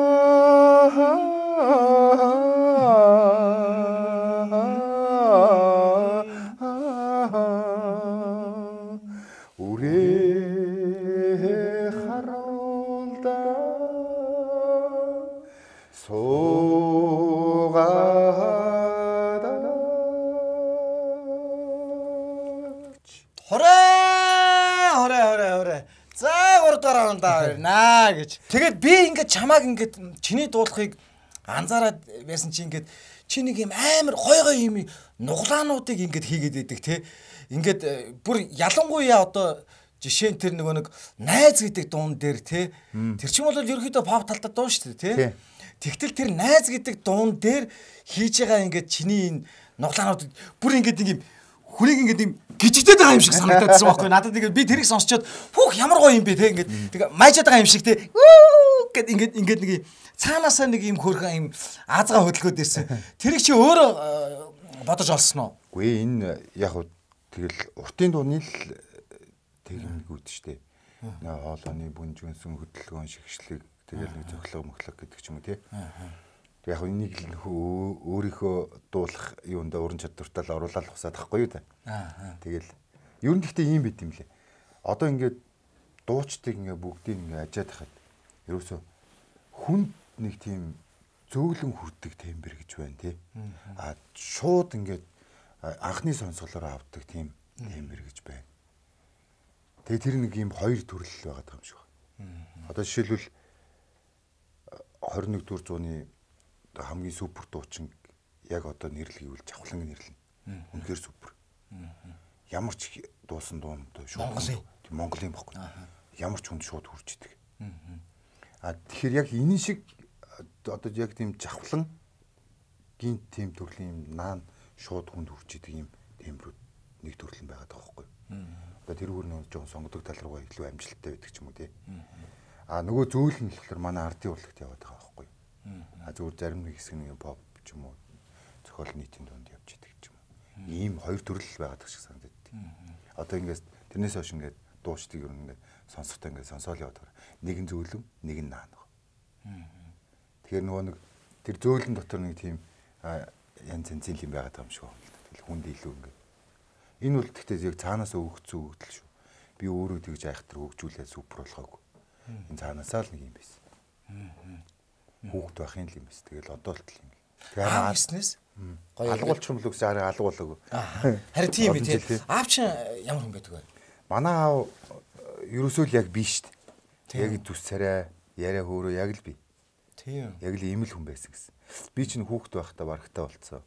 үрээ харуулда суугаад хорой хорой хорой хорой за гурав дахь раундаа байна гэж. Тэгээд би ингээд чамааг ингээд чиний дуулахыг анзаараад байсан чи ингээд чи нэг юм амар гой гой юм нуглаануудыг ингээд хийгээд байдаг те. Ингээд бүр ялангуяа одоо жишээ нь тэр нөгөө нэг найз гэдэг дуун дээр те. Тэр чинь бол ерөөхдөө pop талдаа дуу шүү дээ те. Тэгтэл тэр найз гэдэг дуун дээр хийж байгаа ингээд чиний энэ нуглаанууд бүр ингээд нэг юм хүнийг ингээд юм гжигдээд байгаа юм шиг санагдаадсан байхгүй надад ингээд би тэрийг сонсчоод хүүх ямар гоё юм бэ те ингээд тэгээ майжаад байгаа юм шиг те гэд ингээд ингээд нэг цаанаасаа нэг юм хөөрхөн юм аазгаа хөдөлгөөд ирсэн тэрийг чи өөрөө бодож олсон уу? Үгүй энэ яг хөө тэгэл уртын дууны л техникүүд штэ нэ хоолойны бүнжгэнсэн хөдөлгөөн шигшлэг тэгэл нэг цоглог мөхлөг гэдэг ч юм уу те яг энийг л өөрийнхөө дуулах юундаа уран чадвартаа л оруулаад хусаад тахгүй юу та. Аа. Тэгэл ер нь гэхдээ ийм байт юм лээ. Одоо ингээд дуучдыг ингээд бүгдийг ингээд ажиад хахад ерөөсө хүнд нэг тийм зөөлөн хүрдэг тембер гэж байна тий. Аа шууд ингээд анхны сонсголоор авдаг тийм тембер гэж байна. Тэгээ тэр нэг ийм хоёр төрөл байгаа юм шиг байна. Одоо жишээлбэл хорин нэг дэх зууны хамгийн супер дуучин яг одоо нэрлэгийг жавхлан нэрлэнэ. Үнэхээр супер. Ямар ч дуусан дуун шүү. Монголын бохгүй. Ямар ч хүнд шууд хүрч идэг. А тэгэхээр яг энэ шиг одоо яг тийм жавхлан гинт тийм төрлийн юм наан шууд хүнд хүрч идэг юм тембрүүд нэг төрлөн байгаад байгаа байхгүй. Одоо тэр бүр нэг жоохон сонгодог тал руугаа илүү амжилттай байдаг ч юм уу тий. А нөгөө зөөл нь болохоор манай ардын урлагт яваад байгаа байхгүй. А зүгээр зарим нэг хэсэг нэг pop ч юм уу зохиол нийтийн дунд явж идэг ч юм уу. Ийм хоёр төрөл байгаад байгаа шиг санагдав. Одоо ингээс тэрнээс хойш ингээд дуучдыг ер нь ингээд сонсохтой ингээд сонсоол яваад байгаа. Нэг нь зөөлөн, нэг нь наан. Тэгэхээр нөгөө нэг тэр зөөлөн дотор нэг тийм янз янзын юм байгаад байгаа юм шиг байна. Тэгэл хүнд илүү ингээд. Энэ бол гэхдээ яг цаанаас өгөгдсөн өгдөл шүү. Би өөрөө тэгж айхтар хөгжүүлээд супер болохоогүй. Энэ цаанаасаа л нэг юм байсан. Хүүхд байхын л юм байсан. Тэгэл одоо л тийм. Тэгэхээр ааснаас гоё алга болчих юм л үгүй арай алга болоогүй. Харин тийм ээ тий. Аав чинь ямар хүн байдаг вэ? Манай аав ерөөсөө л яг би шүү дээ. Яг зүс царай, яриа хөөрөө яг л би. Тийм. Яг л ийм л хүн байсан гэсэн. Би чинь хүүхд байхдаа барагтаа болцсон.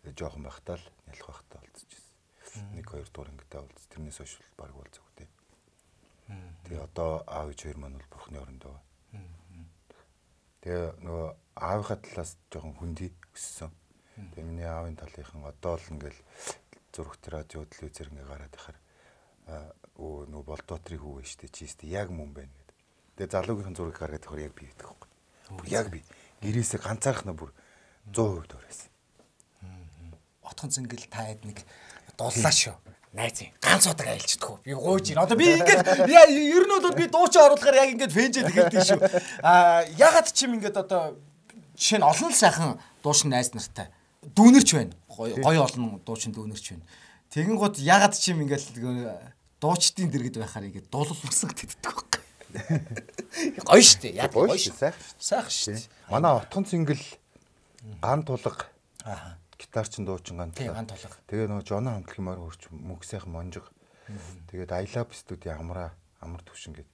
Жохон байхдаа л ялах байхдаа болцчихсон. Нэг хоёр дугаар ангитай болц. Тэрнээс хойш баг болцоо үү. Тэгээ одоо аав ээж хоёр маань бол бурхны орондоо. Тэгээ нөгөө аавынхаа талаас жоохон хүндий өссөн. Тэгээ миний аавын талынхан одоо л ингээл зурагт радио телевизээр ингээ гараад ихаар өө нөгөө Болдбаатрийн хүү вэ штэ чи штэ яг мөн байна гэдэг. Тэгээ залуугийнхан зураг гаргаад ихаар яг би гэдэг байхгүй. Яг би гэрээсээ ганцаархнаа бүр сто процент оройсон. Отхон зингэл таад нэг дуллаа шүү. Найз юм. Ганц удаг айлчдаггүй. Би гойж ийн. Одоо би ингээд ер нь бол би дуучин оруулахаар яг ингээд фэнжэд эхэлдэг шүү. Аа ягаад ч юм ингээд одоо жишээ нь олон л сайхан дуучин найз нартай дүүнерч байна. Гоё олон дуучин дүүнерч байна. Тэгэн гот ягаад ч юм ингээд дуучдын дэргэд байхаар ингээд дуулуулсан гэдэгдэг байхгүй. Гоё штэ. Яг гоё шүү. Сайхан штэ. Манай отхон цингэл ган тулга. Аа гитарчин дуучин ган тулга. Тэгээ нөгөө Жона хамтлаг мөр хурч мөнх сайхан монжиг. Тэгээд I Love студийн амраа амар төвшин гээд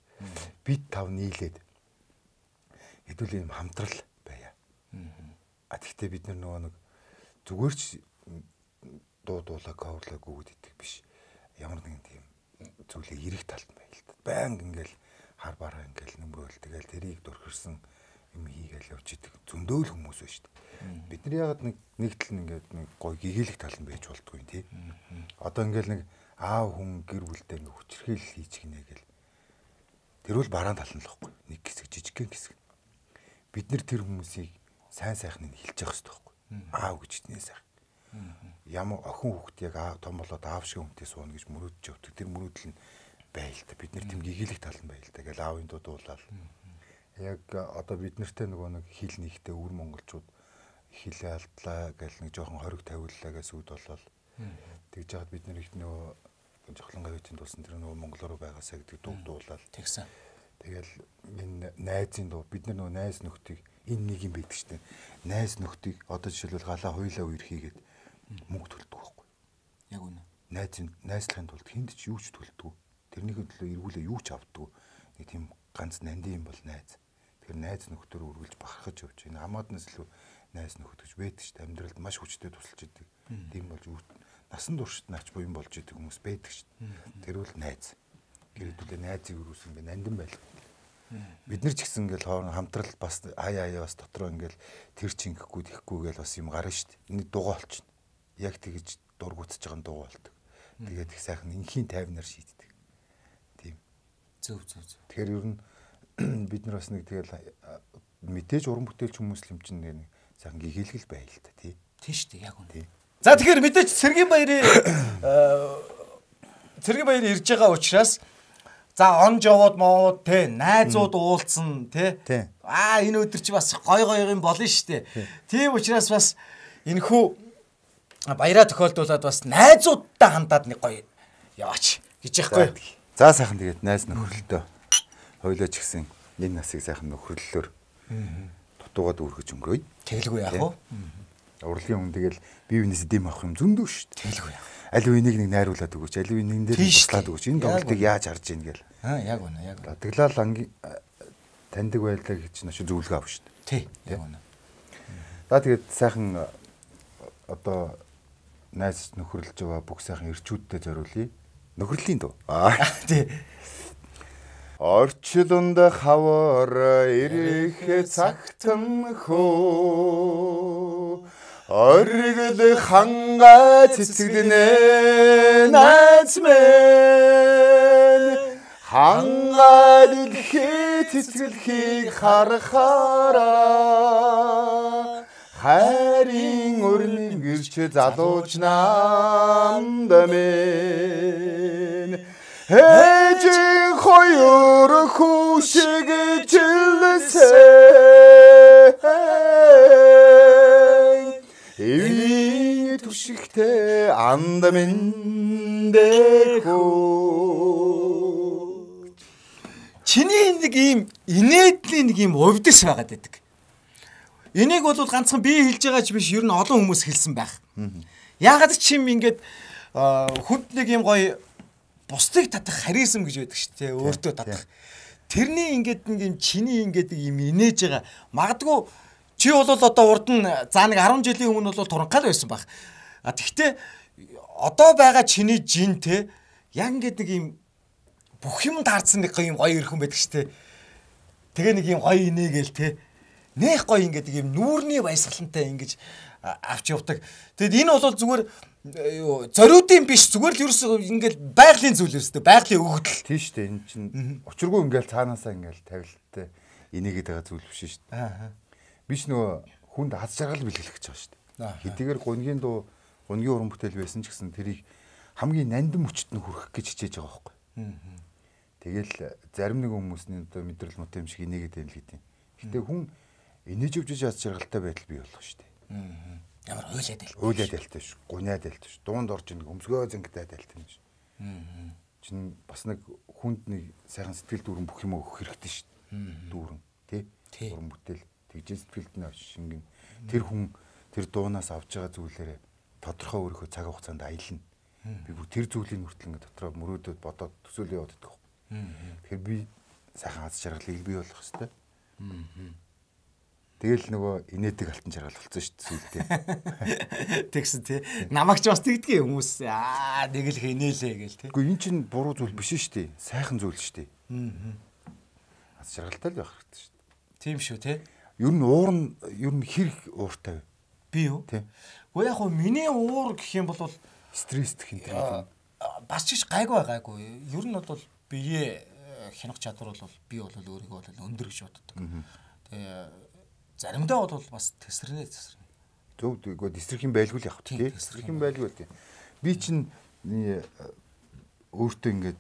бит тав нийлээд хэдүүл юм хамтрал байя. А тэгтээ бид нар нөгөө нэг зүгээр ч дуу дуулаа каверлаагүй гэдэг биш. Ямар нэгэн тийм зүйлээ эрэх талд байл та. Баян ингээл хар бараа ингээл нөмрөөл тэгэл тэрийг дурхирсан юм хийгээл явж идэг зөндөөл хүмүүс байна шүү дээ. Бид нар ягаад нэг нэг тал ингээд нэг гой гэгээлэх тал нь байж болдгүй тий. Одоо ингээл нэг аав хүн гэр бүлтэй ингээ хүчрхийл хийж гинэ гэл. Тэр бол бараан тал нь л байхгүй. Нэг хэсэг жижигхэн хэсэг. Бид нар тэр хүмүүсийг сайн сайхныг хилж явах хэрэгтэй байхгүй. Аав гэж нэ сайх. Ямар охин хүүхд яг аав том болоод аав шиг хүнтэй сууна гэж мөрөөдөж явдаг. Тэр мөрөөдөл нь байл та. Бид нар тийм гэгээлэх тал нь байл та. Гэл аавын дуу дуулаад. Яг одоо бид нартэй нөгөө нэг хил нэгтэй өвөр монголчууд хилээ алдлаа гэл нэг жоохон хориг тавиуллаа гэсэн үд болол. Тэгж яагаад бид нар их нөгөө жохлон гавьтын дуусан тэр нөгөө монголоор байгаасаа гэдэг дуу дуулаад тэгсэн. Тэгэл энэ найзын дуу бид нар нөгөө найз нөхдийг энэ нэг юм байдаг штеп. Найз нөхдийг одоо жишээлбэл галаа хоёлаа үер хийгээд мөнгө төлдөг байхгүй. Яг үнэ. Найзын найзлахын тулд хүнд ч юу ч төлдөг. Тэрнийхээ төлөө эргүүлээ юу ч авдаг. Нэг тийм ганц нандин юм бол найз. Тэр найз нөхдөр үргэлж бахархаж явж байна. Хамааднаас илүү найз нөхд гэж байдаг шүү дээ. Амьдралд маш хүчтэй тусалж идэг. Тийм болж насан туршид наач буян болж идэг хүмүүс байдаг шүү дээ. Тэр бол найз. Гэрэтүүлээ найзыг өрөөсөн ингээ нандин байлгүй. Бид нар ч гэсэн ингээл хоорон хамтрал бас аяа аяа бас дотроо ингээл тэр чинь ихгүй тэхгүй гээл бас юм гарна шүү дээ. Энийг дугаа олчихно. Яг тэгэж дургуутж байгаа дуу болдог. Тэгээд их сайхан инхийн тайвнаар шийддэг. Тийм. Зөв зөв зөв. Тэгэхээр ер нь бид нар бас нэг тэгэл мэдээж уран бүтээлч хүмүүс л юм чинь нэг сайхан гэгээлгэл байл та тий. Тийм шүү дээ яг үнэ. За тэгэхээр мэдээж Цэргийн Баярын Цэргийн Баяр ирж байгаа учраас за он жовод моод те найзууд уулзсан те аа энэ өдөр чи бас гой гой юм болно шүү дээ. Тийм учраас бас энэхүү баяраа тохиолдуулаад бас найзуудтай хандаад нэг гоё яваач гэж яахгүй. За сайхан тэгээд найз нөхөрлөлтөө хойлооч гисэн энэ насыг сайхан нөхөрлөлөөр дутуугаад үргэж өнгөрөөе. Тэгэлгүй яах вэ? Урлагийн хүн тэгэл бие биенээс дэм авах юм зөндөө шүү дээ. Тэгэлгүй яах. Аль үнийг нэг найруулад өгөөч, аль үнийг дээр туслаад өгөөч. Энэ тоглолтыг яаж харж ийн гээл. Аа яг үнэ яг. Тэглэл ангийн таньдаг байлаа гэж чинь зөвлөгөө авах шүү дээ. Тий. Яг үнэ. За тэгээд сайхан одоо найз нөхөрлөж байгаа бүх сайхан ирчүүдтэй зориулъя. Нөхрөлийн дуу. Аа тий. Орчлонд хавар ирэх цагтан хөө оргил хангаа цэцгэлнэ найз минь хангаа дэлхий цэцгэлхийг харахаараа хайрын өрнөн гэрч залууч намд минь Ээжийн хоёр хүүшиг жилсээ эвийн түшигтэй анд миндэхүү. Чиний нэг ийм инээдлийн нэг ийм увдис байгаад байдаг. Энийг бол ганцхан би хэлж байгаа ч биш, ер нь олон хүмүүс хэлсэн байх. Яагаад ч юм ингээд хүнд нэг ийм гоё бусдыг татах харизм гэж байдаг шүү дээ. Өөртөө татах. Тэрний ингээд нэг юм чиний ингээд юм инээж байгаа. Магадгүй чи бол одоо урд нь за нэг арван жилийн өмнө бол туранхай байсан баг. А тэгтээ одоо байгаа чиний жин те яг ингээд нэг юм бүх юм таарсан нэг юм гоё ирхэн байдаг шүү дээ. Тэгээ нэг юм гоё инээгээл те. Нэх гоё ингээд юм нүүрний баясгалантай ингэж авч явдаг. Тэгэд энэ бол зүгээр зориудын биш, зүгээр л ерөөс ингээл байгалийн зүйл ерөөстэй, байгалийн өгөгдөл. Тийм шүү дээ. Энэ чинь учиргүй ингээл цаанаасаа ингээл тавилттай инээгээд байгаа зүйл биш шүү дээ. Аа. Биш нөгөө хүнд аз жаргал бэлгэлэх гэж байгаа шүү дээ. Хэдийгээр гунгийн дуу, гунгийн уран бүтээл байсан ч гэсэн тэрийг хамгийн нандин мөчт нь хүрэх гэж хичээж байгаа байхгүй. Аа. Тэгэл зарим нэг хүмүүсний одоо мэдрэл мут юм шиг инээгээд байл гэдэг. Гэтэ хүн инээж өвжиж аз жаргалтай байдал бий болох шүү дээ. Аа. Ямар уйлаад байлтай. Уйлаад байлтай ш. Гуниад байлтай ш. Дуунд орж ин өмсгөө зингдээд байлтай ш. Аа. Чин бас нэг хүнд нэг сайхан сэтгэл дүүрэн бүх юм өгөх хэрэгтэй ш. Дүүрэн тий. Уран бүтээл тэгжээ сэтгэлд нь шингэн. Тэр хүн тэр дуунаас авж байгаа зүйлээрээ тодорхой өөрийнхөө цаг хугацаанд аялна. Би бүр тэр зүйлийн хүртэл ингэ дотроо мөрөөдөд бодоод төсөөлөө яваад байдаг. Тэгэхээр би сайхан аз жаргалыг бий болгох хэрэгтэй. Аа. Тэгэл нөгөө инээдэг алтан жаргал болсон шүү дээ сүултээ. Тэгсэн тий. Намайг ч бас тэгдгээ хүмүүс аа нэг л инээлээ гээл тий. Үгүй эн чинь буруу зүйл биш шүү дээ. Сайхан зүйл шүү дээ. Аа. Аз жаргалтай л байх хэрэгтэй шүү дээ. Тийм шүү тий. Ер нь уур нь ер нь хэрэг ууртай би юу? Тий. Гэхдээ яг хөө миний уур гэх юм бол стресстэй хин тэр. Бас ч гайгүй гайгүй. Ер нь бол бие хянах чадвар бол би бол өөрийгөө бол өндөр гэж боддог. Тэгээ заримдаа бол бас тесрэнэ тесрэнэ. Зөв үгүй тесрэх юм байлгүй л явах тий. Тесрэх юм байлгүй тий. Би чинь өөртөө ингээд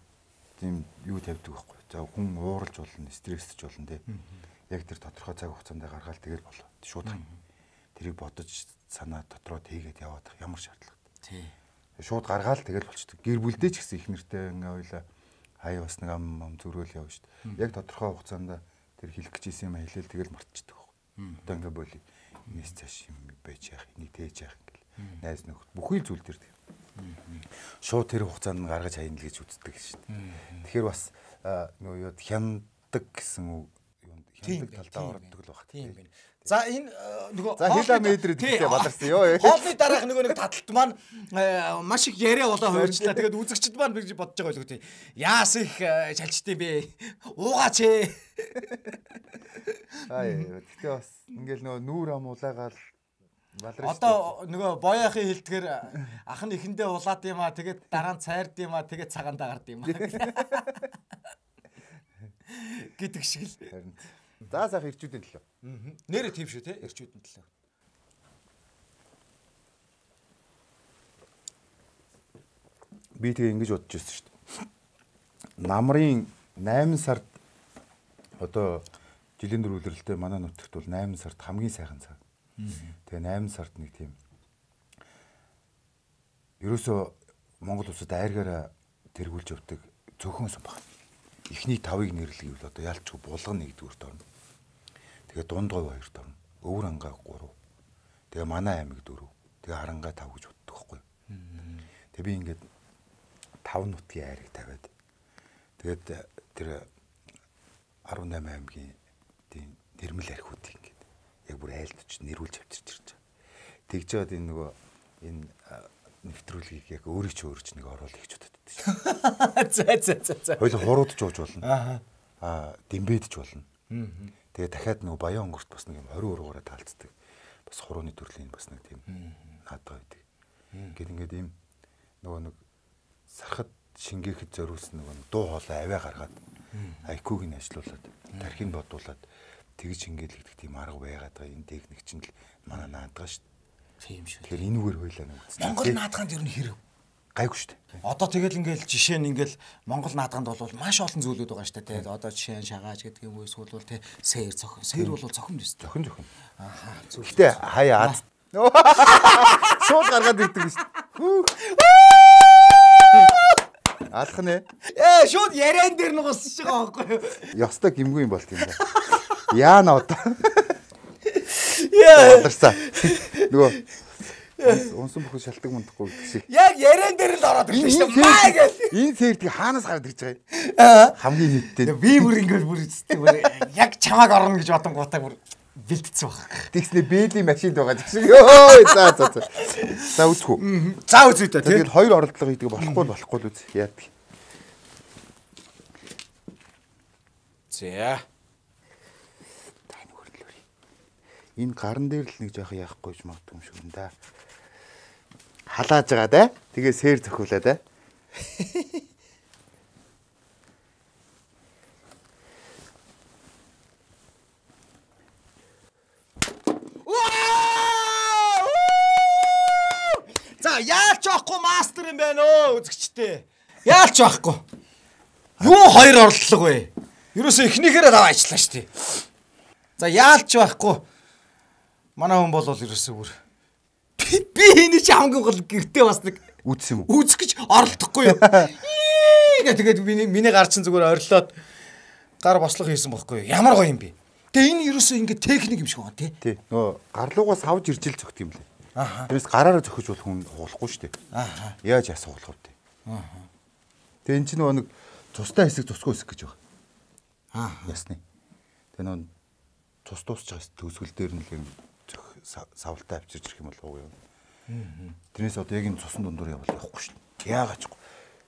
тийм юу тавьдаг байхгүй. За хүн ууралж болно, стресстж болно тий. Яг тэр тодорхой цаг хугацаанд гаргаал тэгэл болоо. Шууд хань. Тэрийг бодож санаа дотроо тээгээд яваад ямар шаардлагатай. Тий. Шууд гаргаал тэгэл болчдөг. Гэр бүлдээ ч гэсэн их нэртэй ингээ ойлаа хаяа бас нэг ам ам зүрөөл явна шүү дээ. Яг тодорхой хугацаанд тэр хэлэх гэжсэн юм хэлэл тэгэл мартчихдаг. Одоо ингээ боли энэс цааш юм байж яах, энийг тээж яах ингээл найз нөхөд бүхий зүйл төр. Шууд тэр хугацаанд нь гаргаж хаяна л гэж үздэг шүү дээ. Тэгэхээр бас нөгөө юу хяндаг гэсэн үг хяндаг талдаа ордог л баг. Тийм байна. За энэ нөгөө за хила метр гэдэгтэй баларсан ёо. Хоолны дараах нөгөө нэг таталт маань маш их яриа болоо хойрчлаа. Тэгээд үзэгчд маань би бодож байгаа байлгүй. Яас их шалжтыг бэ? Уугаач ээ. Аа гэхдээ бас ингээл нөгөө нүүр ам улаагаал баларсан. Одоо нөгөө боёохын хэлдгэр ах нь ихэндээ улаад юм аа. Тэгээд дараа нь цайрд юм аа. Тэгээд цагаандаа гард юм аа. Гэдэг шиг л. За сайхан ирчүүдийн төлөө. Аа. Нэрээ тийм шүү те ирчүүдийн төлөө. Би тэгээ ингэж бодож байсан шүү дээ. Намрын найман сард одоо жилийн дөрвөлрэлтэй манай нутагт бол найман сард хамгийн сайхан цаг. Тэгээ найман сард нэг тийм ерөөсөө Монгол улсад айргаараа тэргүүлж явдаг цөөхөн сум баг. Эхний тавыг нэрлэе гэвэл одоо ялчгүй булган нэгдүгürt орно. Тэгээ дундгой хоёрт орно. Өвөр ангаа гурав. Тэгээ манай аймаг дөрөв. Тэгээ харангаа тав гэж боддог байхгүй. Тэгээ би ингээд тав нутгийн айрыг тавиад тэгээд тэр арван найман аймгийн тийм нэрмэл архиудыг ингээд яг бүр айлтж нэрүүлж авчирч ирж байгаа. Тэгж жаад энэ нөгөө энэ нэвтрүүлгийг яг өөрөө ч өөрөө ч нэг оруулах гэж бодод. болдог шүү. За за за за. Хоёул хуруудж ууж болно. Аа. Аа, дэмбэдж болно. Тэгээ дахиад нөгөө баян өнгөрт бас нэг юм тwenty ургаараа таалцдаг. Бас хурууны төрлийн бас нэг тийм наадгаа байдаг. Гэт ингээд ийм нөгөө нэг сархад шингээхэд зориулсан нөгөө дуу хоолой аваа гаргаад айкуг нь ажилуулад тархийг бодуулаад тэгж шингээлэгдэх тийм арга байгаад байгаа. Энэ техник чинь л манай наадгаа шүү дээ. Тийм шүү. Тэгэхээр энүүгээр хойлоо нэг үзсэн. Монгол наадгаанд ер нь хэрэг гайгүй шүү дээ. Одоо тэгэл ингээл жишээ нь ингээл Монгол наадгаанд бол маш олон зүйлүүд байгаа шүү дээ. Одоо жишээ нь шагааж гэдэг юм уу эсвэл те сээр цохин. Сээр бол цохин биз дээ. Зохин зохин. Ааха. Гэхдээ хаяа аз. Шууд гаргаад ирдэг шүү дээ. Алах нэ. Ээ шууд яриан дээр нь гусж байгаа байхгүй юу? Ёстой гимгүй юм болт юм да. Яана одоо. Яа. Аларсаа. Нөгөө унсан бүхэн шалтгаан мундахгүй гэдэг шиг. Яг яриан дээр л ороод ирлээ шүү дээ. Маа гэж. Энэ сэрдгийг хаанаас гараад ирж байгаа юм? Аа. Хамгийн нийттэй. Би бүр ингээл бүр зүтг бүр яг чамааг орно гэж бодон гутаа бүр бэлтцсэн баг. Тэгснэ бээлийн машинд байгаа гэх шиг. Йоо за за за. За үзэх үү. За үзье та тийм. Тэгээд хоёр оролдлого хийдэг болохгүй болохгүй л үз. Яадаг. За. Тань хөрлөөрэй. Энэ гарн дээр л нэг жоох яахгүй ч магадгүй юм шиг юм да. Халааж байгаа да. Тэгээ сээр зөхүүлээ да. За яалч авахгүй мастер юм байна өө үзэгчтэй. Яалч авахгүй. Юу хоёр орлого вэ? Ерөөсөө эхнийхээрээ даваа ажиллаа шүү дээ. За яалч авахгүй. Манай хүн бол ерөөсөө бүр би энэ чи хамгийн гол гэртээ бас нэг Үзсэн юм уу? үзэх гэж оролдохгүй юу. Гээ тэгээд миний миний гар чин зүгээр орилоод гар бослого хийсэн бохгүй юу. Ямар гоё юм бэ? Тэгээ энэ ерөөсөө ингэ техник юм шиг байна тий. Тий. Нөө гарлуугаас авж ирж ил зөгт юм лээ. Аха. Тэрээс гараараа зөхөж бол хүн хуулахгүй шүү дээ. Аха. Яаж асуулах вэ? Аха. Тэгээ эн чинь нөгөө нэг цустай хэсэг цусгүй хэсэг гэж байгаа. Аа. Ясны. Тэгээ нөгөө цус дуусч байгаа төгсгөл дээр нь л юм зөх савлтаа авчирч ирэх юм болов уу юм. Тэрнээс одоо яг энэ цусан дундуур явбал явахгүй шүү дээ. Яагаад ч.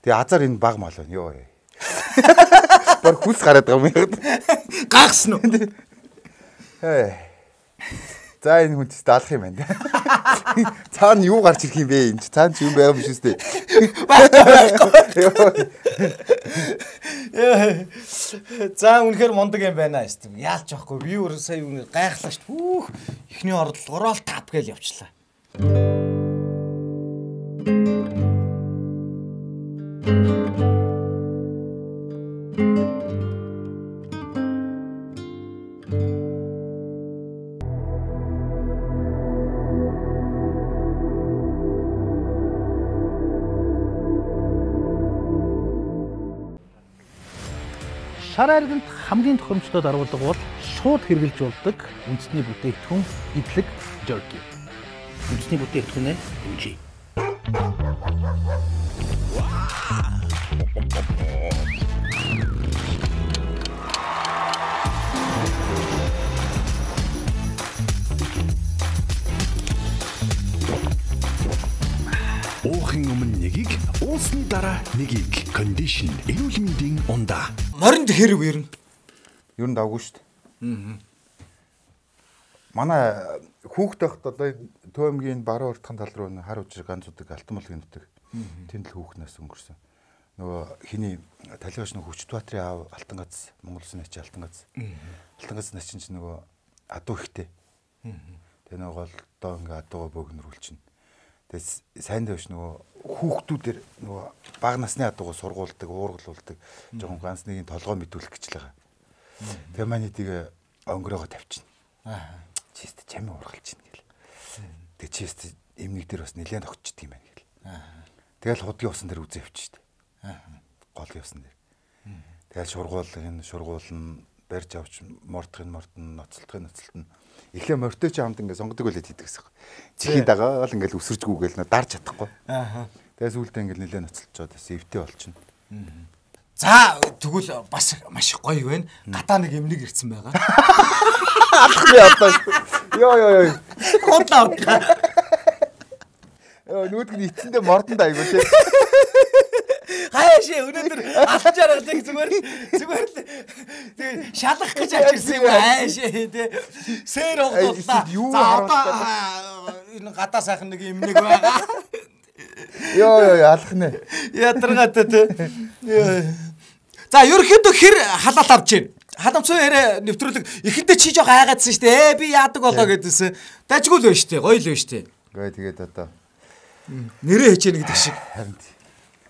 Тэгээ азар энэ баг мал байна. Йоо. Бар хүс гараад байгаа юм яа. Гагсан уу? Хээ. За энэ хүн ч даалах юм байна. Цаана юу гарч ирэх юм бэ? Энд цаана ч юм байгаа юм шүү дээ. За үнэхээр мундаг юм байна шүү дээ. Яалч واخгүй. Би өөр сая үнээр гайхлаа шүү дээ. Хүүх. Эхний оролдлогороо л тап гээл явчлаа. Шар айрагт хамгийн тохиромжтой дарвалдаг бол шууд хэрглэж болдог үндэсний бүтээгдэхүүн идэлэг jerky. Үндэсний бүтээгдэхүүнээ хэмжээ. Уухын өмнө нэгийг, уусны дараа нэгийг. Condition эрүүл мэндийн ундаа. Моринд хэрэг ер нь. Ер нь давгүй шүү дээ. Аа. Манай хүүхд байхад одоо Төвөмгийн баруун уртхан тал руу хар уужиг ганцуудаг алтан молгийн нутаг. Тэнд л хүүхнээс өнгөрсөн. Нөгөө хиний талигаш нөгөө Хүч Баатрын аав алтан гац Монгол Улсын ачи алтан гац. Алтан гац начин ч нөгөө адуу ихтэй. Тэгээ нөгөө голдоо ингээ адуугаа бөөгнөрүүлчихнэ. Тэгээ сайн дэвш нөгөө хүүхдүүдээр нөгөө бага насны адуугаа сургуулдаг, уургалуулдаг, жоохон ганц нэгin толгой мэдүүлэх гэж л байгаа. Тэгээ маань тийг өнгөрөөгөө тавьчихна. Аа. Чист чамин уургалж чинь гэл. Тэгээ чист эмнэг дээр бас нэлээд огчдөг юм байна гэл. Аа. Тэгэл худгийн усан дээр үзээ авчих штэ. Аа. Голын усан дээр. Тэгэл шургуулгын шургуулна, барьж авч мортхын мортон, ноцолтхын ноцолтон. Эхлээ мортой ч хамт ингээ сонгодог байлээ хийдэг гэсэн. Чихийн дагаа л ингээл өсөржгүүгээл дарж чадахгүй. Аа. Тэгээ сүүлдээ ингээл нэлээд ноцолцоод эвтэй болчихно. Аа. За тэгвэл бас маш гоё байна. Гадаа нэг эмнэг ирсэн байгаа. Алах нь одоо. Йоо ёо ёо. Хотлоо. Йоо нүүдг нь эцэндээ мордонд айгуу тий. Хаашаа өнөөдөр алтан жаргалыг зүгээр зүгээр л тэг шалгах гэж авчирсан юм хаашаа тий. Сэр хогдууллаа. За одоо энэ гадаа сайхан нэг юм нэг байгаа. Йоо ёо алах нэ. Ядаргаатай тий. За ерөөхдөө хэр халаал авч гин. Халамцсан яриа нэвтрүүлэг эхэндээ чи жоо гайгаадсан шүү дээ. Ээ би яадаг болоо гэдээсэн. Дажгүй л байна шүү дээ. Гоё л байна шүү дээ. Гээ тэгээд одоо нэрээ хэж яах гэдэг шиг. Харин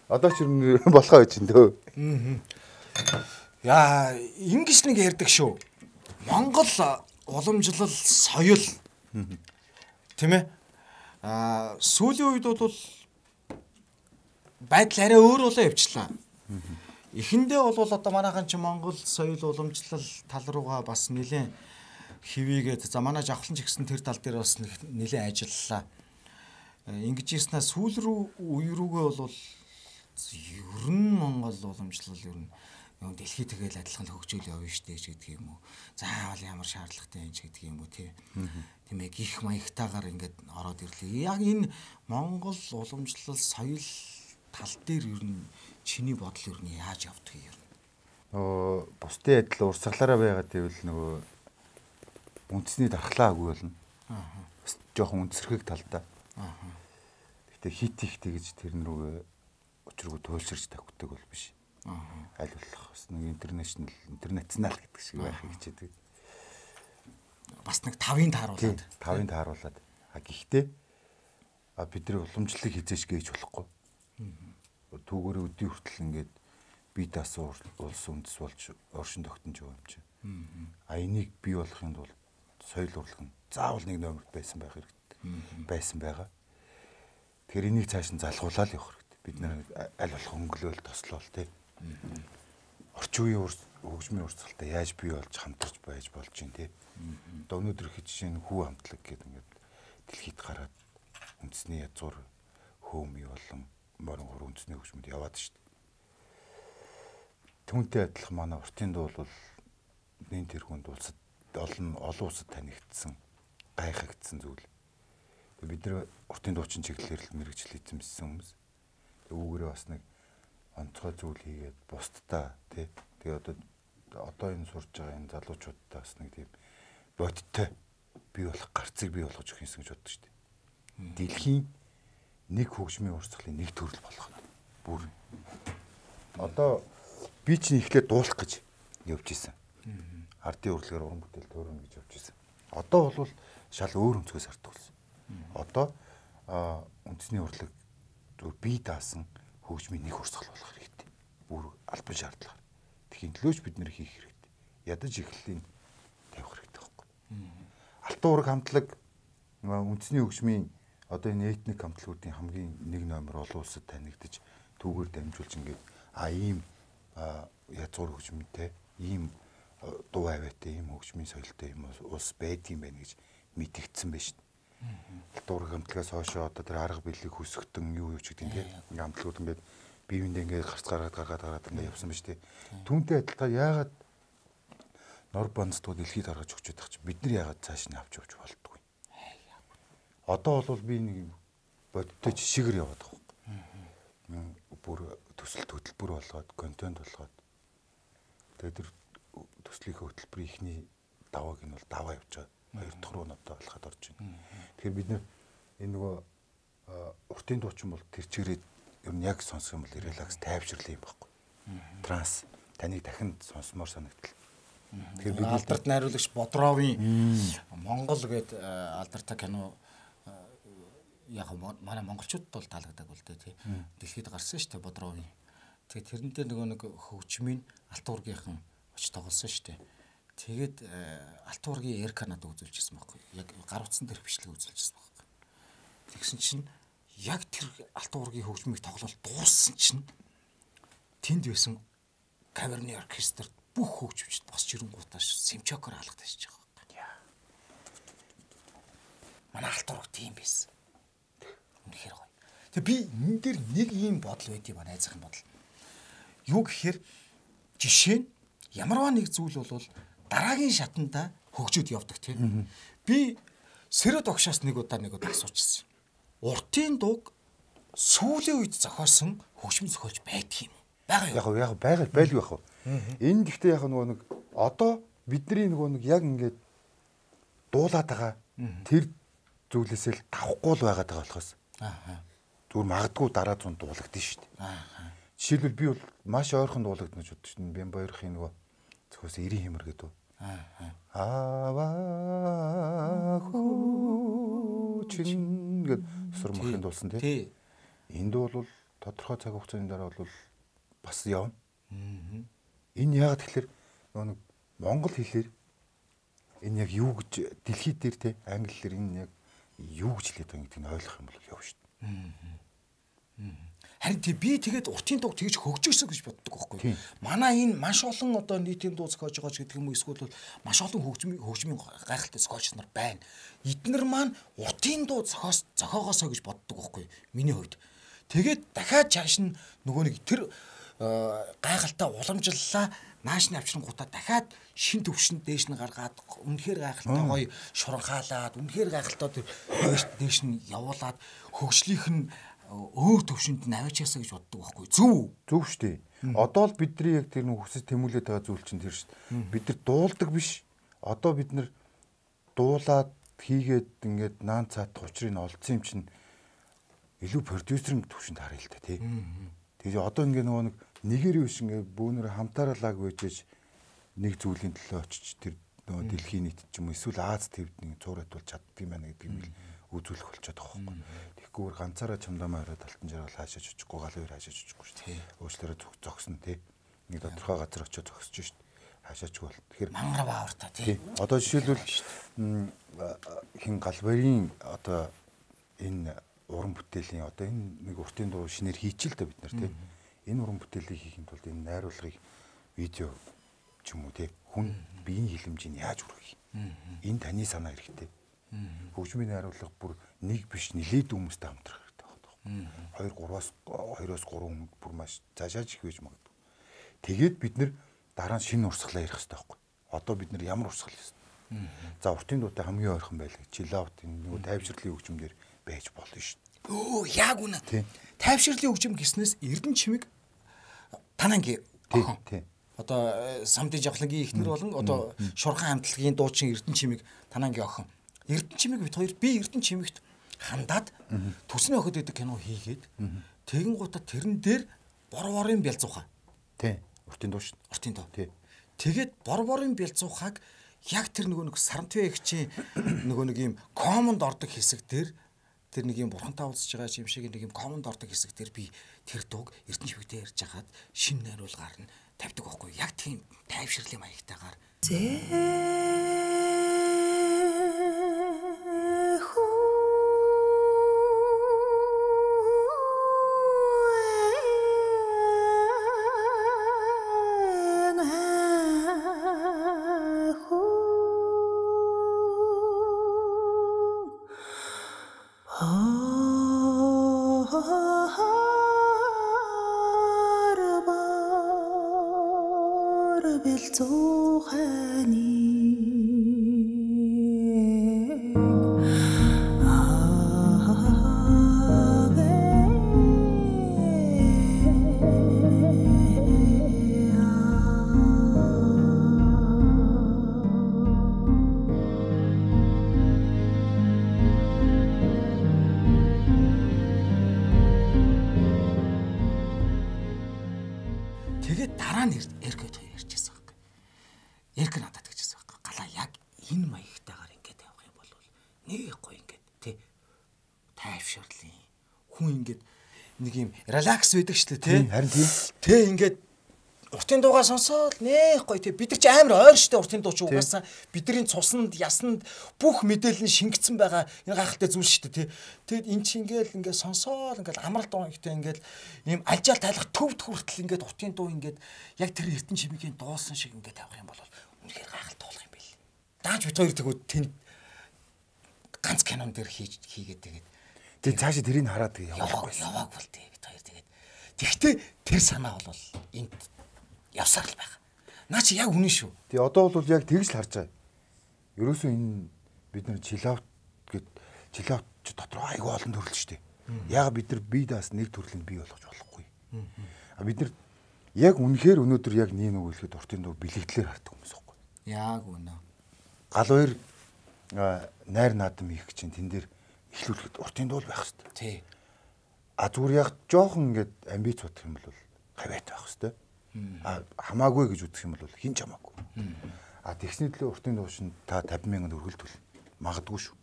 одоо ч юм болохоо гэж энэ дөө. Яа, ингэж нэг ярьдаг шүү. Монгол уламжлал соёл тийм ээ. Аа, сүүлийн үед бол байдал арай өөр болоо явчлаа. Эхэндээ бол одоо манайхан чи Монгол соёл уламжлал тал руугаа бас нэлээд хивээгээд за манай жавхлан ч гэсэн тэр тал дээр бас нэлээд ажиллалаа. Ингэж ийснэ сүүл рүү үе рүүгээ бол ер нь Монгол уламжлал ер нь дэлхий тэгэл адилхан хөгжөөл явна штэ гэдэг юм уу. Заавал ямар шаардлагатай юм ч гэдэг юм уу тий. Тийм ээ гих маягтайгаар ингээд ороод ирлээ. Яг энэ Монгол уламжлал соёл тал дээр ер нь чиний бодол ер нь яаж явдаг юм? Оо бусдын адил урсгалаараа байгаад ивэл нөгөө үндэсний дархлаагүй болно. Аа. Бас жоохон үндэсрэх талдаа. Аа. Гэтэ хит ихтэй гэж тэр нүрээ өчргөө туйлширч тавьдаг бол биш. Аа. Аль болох бас нэг интернэшнл интернационал гэдэг шиг байх хичээдэг. Бас нэг тавын тааруулаад. Тавын тааруулаад. А гэхдээ а бидний уламжлалыг хизээч гэж болохгүй. Түүгээр өдний хүртэл ингээд бие даасан улс үндэс болж оршин тогтнож байгаа юм чинь. А энийг бий болохын тулд соёл урлаг нь заавал нэг номер байсан байх хэрэгтэй. Байсан байгаа. Тэгэхээр энийг цааш нь залгуулаад явах хэрэгтэй. Бид нэр аль болох өнгөлөөл тослоол тий. Орчин үеийн хөгжмийн урсгалтай яаж бий болж хамтарч байж болж юм тий. Одоо өнөөдөр их жишээ нь хүү хамтлаг гэдэг ингээд дэлхийд гараад үндэсний язгуур хөөмий болон морин гур үндэсний хөгжмөд яваад шүү дээ. Түүнтэй адилхан манай уртын дуу бол нэн тэргуунд улсад олон олон улсад танигдсан гайхагдсан зүйл. Бид нэр уртын дуучин чиглэлээр л мэрэгчлээсэн хүмүүс. Үүгээрээ бас нэг онцгой зүйл хийгээд бусдаа тий. Тэгээ одоо одоо энэ сурж байгаа энэ залуучуудаа бас нэг тийм бодиттой бий болох гарцыг бий болгож өгөх юмсан гэж боддог шүү дээ. Дэлхийн нэг хөгжмийн урсгалын нэг төрөл болох нь. Бүр одоо би чинь ихлээр дуулах гэж явж исэн. Ардын урлагаар уран бүтээл төрөнө гэж явж исэн. Одоо бол шал өөр өнцгөөс хардаг болсон. Одоо үндэсний урлаг зөв бие даасан хөгжмийн нэг урсгал болох хэрэгтэй. Бүр албан шаардлага. Тэхийн төлөөч бид нэр хийх хэрэгтэй. Ядаж эхлэлийн тавих хэрэгтэй байхгүй. Алтан ураг хамтлаг үндэсний хөгжмийн одоо энэ этник хамтлагуудын хамгийн нэг номер олон улсад танигдж түүгээр дамжуулж ингээд а ийм язгуур хөгжмөнтэй ийм дуу аваатай ийм хөгжмийн соёлтой юм улс байдгийм байна гэж мэдэгдсэн байж шин. Алтан ураг хамтлагаас хойшоо одоо тэр арга билег хөсгөтөн юу юу ч гэдэг тийм хамтлагууд ингээд биевиндээ ингээд гарц гаргаад гаргаад гаргаад ингээд явсан байж тээ. Түүнтэй адилхан яагаад нор банцтууд дэлхийд гаргаж өгч байгаа ч бид нар яагаад цааш нь авч явж болдгоо. Одоо бол би нэг бодтой жишгээр яваад байгаа. Бүр төсөл хөтөлбөр болгоод, контент болгоод. Тэгээд тэр төслийнхөө хөтөлбөрийн ихний давааг нь бол даваа явж байгаа. Хоёр дахь руу надад болоход орж байна. Тэгэхээр бид нэр энэ нөгөө уртын дуучин бол тэр чигээрээ ер нь яг сонсох юм бол релакс тайвширлаа юм байхгүй. Транс таныг дахин сонсомоор санагдал. Тэгэхээр бид алдарт найруулагч Бодровын Монгол гээд алдартай кино яг манай монголчуудад бол таалагддаг бол тээ. Дэлхийд гарсан шүү дээ Бодровын. Тэгээ тэрнтэй нөгөө нэг хөгжмийн алтан ургийнхан очиж тоглосон шүү дээ. Тэгээд алтан ургийн Эрканад үзүүлжсэн байхгүй. Яг гар утсан дээр хвшлэг үзүүлжсэн байхгүй. Тэгсэн чинь яг тэр алтан ургийн хөгжмийг тоглол дууссан чинь тэнд байсан каверны оркестр бүх хөгжимчд босч ирэнгуутаа симчокоор алгадаж байгаа байхгүй. Манай алтан ург тийм байсан. Үнэхээр гоё. Тэгээ би энэ дээр нэг ийм бодол байдгийг ба найзахын бодол. Юу гэхээр жишээ нь ямарваа нэг зүйл бол дараагийн шатанда хөгжөөд явдаг тийм. Би Сэрэд огшоос нэг удаа нэг удаа асуучсан. Уртын дууг сүүлийн үед зохиосон хөгжмийн зохиолч байдаг юм. Бага юу? Яг яг байгаль байлгүй яг. Энэ гэхдээ яг нөгөө нэг одоо бидний нөгөө нэг яг ингээд дуулаад байгаа тэр зүйлээсээ л тавхгүй л байгаад байгаа болохоос. Аа. Зүгээр магадгүй дараа зуун дуулагдсан шүү дээ. Аа. Жишээлбэл би бол маш ойрхон дуулагдана гэж боддог шин. Бямбаярхын нөгөө зохиос эрийн хэмэр гэдэг. Аа. Аа чин гэд сүр махын дуулсан тий. Энд бол тодорхой цаг хугацааны дараа бол бас явна. Аа. Энэ яг тэгэхээр нөгөө монгол хэлээр энэ яг юу гэж дэлхийд дээр те англи хэлээр энэ яг юу гэж хэлээд байгаа гэдгийг ойлгох юм бол яв шүү дээ. Харин тий би тэгээд уртын дуу тэгж хөгжөөсө гэж боддог байхгүй. Манай энэ маш олон одоо нийтийн дуу зохиож байгаа ч гэдэг юм уу эсвэл маш олон хөгжмийн хөгжмийн гайхалтай зохиолч нар байна. Эднэр маань уртын дуу зохиос зохиогоосоо гэж боддог байхгүй. Миний хувьд. Тэгээд дахиад чааш нь нөгөө нэг тэр гайхалтай уламжлалаа наашны авчрангуудаа дахиад шин төвшөнд дээш нь гаргаад үнэхээр гайхалтай гоё шуранхаалаад үнэхээр гайхалтай дээш нь явуулаад хөгжлийнх нь өөр төвшөнд нь аваачаасаа гэж боддог байхгүй зөв зөв шүү дээ. Одоо л бидний яг тэр нэг хүсэж тэмүүлээд байгаа зүйл чинь тэр шүү дээ. Бид нар дуулдаг биш. Одоо бид нар дуулаад хийгээд ингээд наан цаат учрыг олдсон юм чинь илүү продюсерын төвшөнд харъя л та тий. Тэгээ одоо ингээд нөгөө нэг нэгэр биш ингээд бөөнөр хамтаарлаг байжж нэг зүйлийн төлөө очиж тэр нөгөө дэлхийн нийт ч юм уу эсвэл Аз твд нэг цуурайт бол чаддаг юм байна гэдгийг л үзүүлэх болчиход байгаа байхгүй. Тэгэхгүй ганцаараа чамдамаа ороод алтан жаргал хаашаач очихгүй гал өөр хаашаач очихгүй шүү дээ. Уучлаарай зогсно тий. Нэг тодорхой газар очиж зогсож шүү дээ. Хаашаачгүй бол. Тэгэхээр мангар баавартай тий. Одоо жишээлбэл хин галбарын одоо энэ уран бүтээлийн одоо энэ нэг уртын дуу шинээр хийчихэл та бид нар тий. Энэ уран бүтээлийг хийхин тулд энэ найруулгыг видео ч юм уу тий хүн биеийн хилэмжийг яаж хүргэх юм. Энэ таны санаа хэрэгтэй. Хөгжмийн найруулга бүр нэг биш нилээд хүмүүстэй хамтрах хэрэгтэй байна. хоёр гураас хоёроос гурван хүн бүр маш цаашаач их байж магадгүй. Тэгээд бид нэр дараа нь шинэ урсгалаа ярих хэрэгтэй байхгүй. Одоо бид нар ямар урсгал хийсэн. За уртын дуутай хамгийн ойрхон байлаа. Чилаут энэ нөгөө тайвширлын хөгжмөндөр байж болно шүү дээ. Өө яг үнэ. Тайвширлын хөгжим гэснээс Эрдэнэ чимэг танангийн тий. Одоо самдын жавхлагийн ихнэр болон одоо шурхан хамтлагийн дуучин Эрдэнэ чимэг танангийн охин. Эрдэнэ чимэг бит хоёр би Эрдэнэ чимэгт хандаад төсний охид гэдэг кино хийгээд тэгэн гутаа тэрэн дээр бор борын бялзуухаа. Тий. Уртын дуу шүү. Уртын дуу. Тий. Тэгээд бор борын бялзуухааг яг тэр нөгөө нэг Сарантвэ эгчийн нөгөө нэг юм комонд ордог хэсэг дээр тэр нэг юм бурхантай уулзж байгаа юм шиг нэг юм комонд ордог хэсэг дээр би тэр дууг Эрдэнэ чимэгтэй ярьж хагаад шинэ найруулгаар нь тавьдаг байхгүй. Яг тийм тайвширлын маягтайгаар. Тэгээд дараа нь Эркэт хоёр ярьчихсан байхгүй. Эрк надад гэжсэн байхгүй. Галаа яг энэ маягтайгаар ингээд явах юм бол нэг гоё ингээд тий тайвширлын хүн ингээд нэг юм релакс байдаг шүү дээ тий. Харин тий. Тий ингээд уртын дуугаа сонсоод нэх гоё тий бид нар чи амар ойр штэ уртын дуу чи угаасаа бидний цуснд ясанд бүх мэдээлэл нь шингэцэн байгаа энэ гайхалтай зүйл штэ тий. Тэгэд эн чи ингээл ингээд сонсоод ингээд амралт дуу ихтэй ингээд ийм альжаал тайлах төвд хүртэл ингээд уртын дуу ингээд яг тэр Эрдэнэ чимэгийн дуусан шиг ингээд тавих юм бол үнэхээр гайхалтай болох юм байл. Дааж бит хоёр тэгвэл тэнд ганц кинон дээр хийж хийгээд тэгээд тэг цаашаа тэрийг хараад яваагүй яваагүй л тий бит хоёр тэгээд тэгтээ тэр санаа бол энд явсаар л байгаа. Наа чи яг үнэн шүү. Тий одоо бол яг тэгж л харж байгаа. Ерөөсөө энэ бид нар чилаут гэд чилаут ч дотор айгүй олон төрөл шүү дээ. Яагаад бид нар бие даас нэг төрлийн бие болгож болохгүй. А бид нар яг үнэхээр өнөөдөр яг нэг нэг үлэхэд уртын дуу бэлэгдлэр хардаг хүмүүс байхгүй. Яг үнэ. Гал хоёр найр наадам хийх чинь тэн дээр эхлүүлэхэд уртын дуу байх хэрэгтэй. Тий. А зүгээр яг жоохон ингээд амбиц бодох юм бол хавьяатай байх хэрэгтэй. А хамаагүй гэж үзэх юм бол хин ч хамаагүй. А тэгсний төлөө уртын дуу шин та тавин мянган төгрөгөл төлнө. Магадгүй шүү.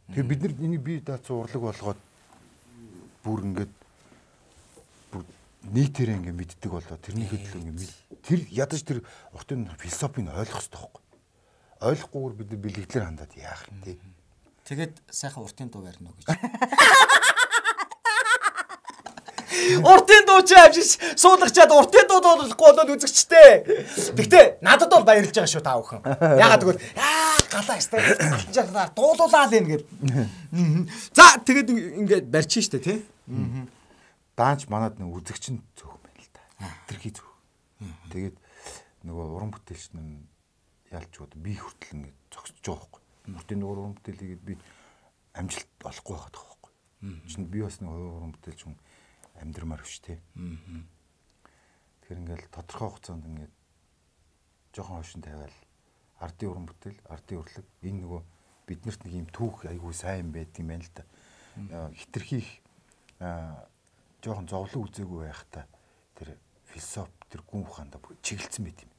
Тэгээ бид нар энийг бие даацсан урлаг болгоод бүр ингээд нийтээрээ ингээд мэддэг болоо тэрний хөдөлгөөн ингээд тэр ядаж тэр уртын философийг ойлгох хэрэгтэй байхгүй. Ойлгохгүйгээр бид нар бэлэгдлэр хандаад яах юм те. Тэгээд сайхан уртын дуу барина уу гэж. Уртын дуу ч авчиж суулгачаад уртын дуу дуулахгүй болоод үзэгчтэй. Тэгтээ надад бол баярлж байгаа шүү та бүхэн. Ягаад гэвэл аа галаа стаа дуулуулаа л юм гээд. За тэгээд ингээд барьчих штэ тий. Даанч манад нэг үзэгч нь зөөх юм байна л да. Тэрхий зөөх. Тэгээд нөгөө уран бүтээлч нь ялчууд би хүртэл ингээд зогсож байгаа байхгүй. Уртын дуу уран бүтээлийг би амжилт олохгүй байгаад байгаа байхгүй. Чинь би бас нэг уран бүтээлч хүн амьдрмаар биш те. Тэгэхээр ингээл тодорхой хугацаанд ингээд жоохон хошин тавиал ардын уран бүтээл, ардын урлаг энэ нөгөө биднэрт нэг юм түүх айгүй сайн байдаг юм байна л да. Хитрхийх жоохон зовлон үзээгүй байхдаа тэр философи тэр гүн ухаандаа чиглэлсэн байт юм.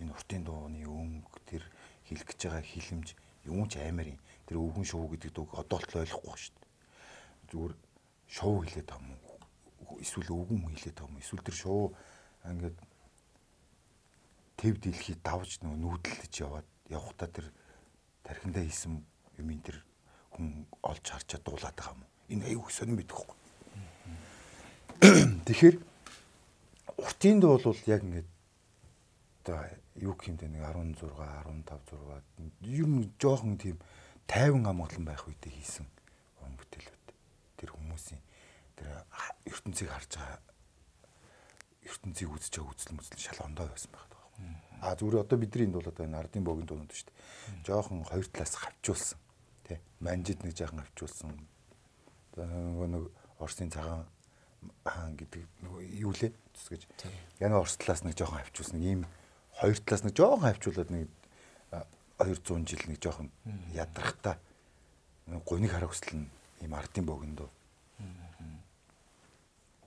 Энэ уртын дууны өнгө тэр хэлэх гэж байгаа хилэмж юм ч аймаар юм. Тэр өвгөн шоу гэдэг дуу одоо л ойлгохгүй шүү дээ. Зүгээр шоу хэлээд байгаа юм. Эсвэл өвгөн хийлээ таам эсвэл тэр шоу ингээд тэв дэлхий давж нөгөө нүүдэлж яваад явхдаа тэр тархиндаа хийсэн юм ин тэр хүн олж харчаад дуулаад байгаа юм. Энэ аюу сонирн мэдэх байхгүй. Тэгэхээр уртын дуу бол яг ингээд одоо юу гэмтэй нэг арван зураг, арван тав зураг ер нь жоохон тийм тайван амгалан байх үедээ хийсэн уран бүтээлүүд. Тэр хүмүүсийн тэр ертөнцийг харж байгаа ертөнцийг үзэж байгаа үзэл мүзэл шал ондоо байсан байх таа. А зүгээр одоо бидний энд бол одоо энэ ардын богийн дуунууд шүү дээ. Жохон хоёр талаас хавчуулсан тий. Манжид нэг жаахан хавчуулсан. Одоо нөгөө нэг Орсын цагаан хаан гэдэг нөгөө юу лээ зүсгэж. Яна Орос талаас нэг жоохон хавчуулсан. Ийм хоёр талаас нэг жоохон хавчуулаад нэг двухсот жил нэг жоохон ядрахтаа гуниг хараа хүсэл нь ийм ардын богийн дуу.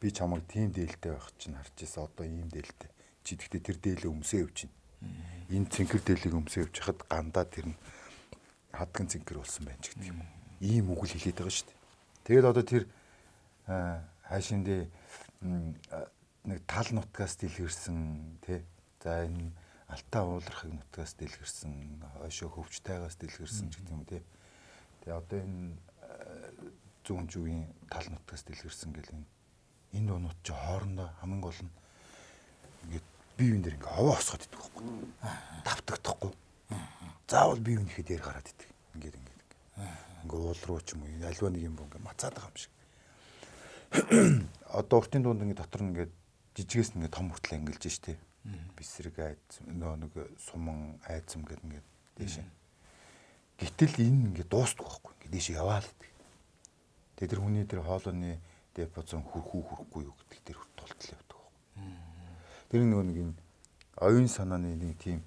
Би чамайг тийм дээлтэй байх чинь харж ирсэн одоо ийм дээлтэй. Чи тэгтээ тэр дээлээ өмсөө явж чинь. Энэ цэнхэр дээлийг өмсөө явж хахад гандаа тэр нь хадган цэнхэр болсон байна ч гэдэг юм. Ийм үгэл хэлээд байгаа шүү дээ. Тэгээд одоо тэр хайшиндээ нэг тал нутгаас дэлгэрсэн тий. За энэ алтаа уулархыг нутгаас дэлгэрсэн, хойшоо хөвчтайгаас дэлгэрсэн ч гэдэг юм тий. Тэгээ одоо энэ зүүн зүгийн тал нутгаас дэлгэрсэн гэл энэ энэ дуунууд чи хоорондоо хамгийн гол нь ингээд бие биен дээр ингээ ховоо осгоод идэх байхгүй. Давтагдахгүй. Заавал бие биенийхээ дээр гараад идэх. Ингээд ингээд ингээ уул руу ч юм уу альва нэг юм бо ингээ мацаад байгаа юм шиг. Одоо уртын дунд ингээ дотор нь ингээ жижигээс ингээ том хүртэл ангилж штэ. Бисрэг айц нөө нэг суман айцам гэдэг ингээ дээш. Гэтэл энэ ингээ дуустдаг байхгүй. Ингээ дээш яваал идэх. Тэгээ тэр хүний тэр хоолойны депозон хүрхүү хүрхгүй юу гэдэг тэр тултал явдаг. Тэр нөгөө нэг энэ оюун санааны нэг тийм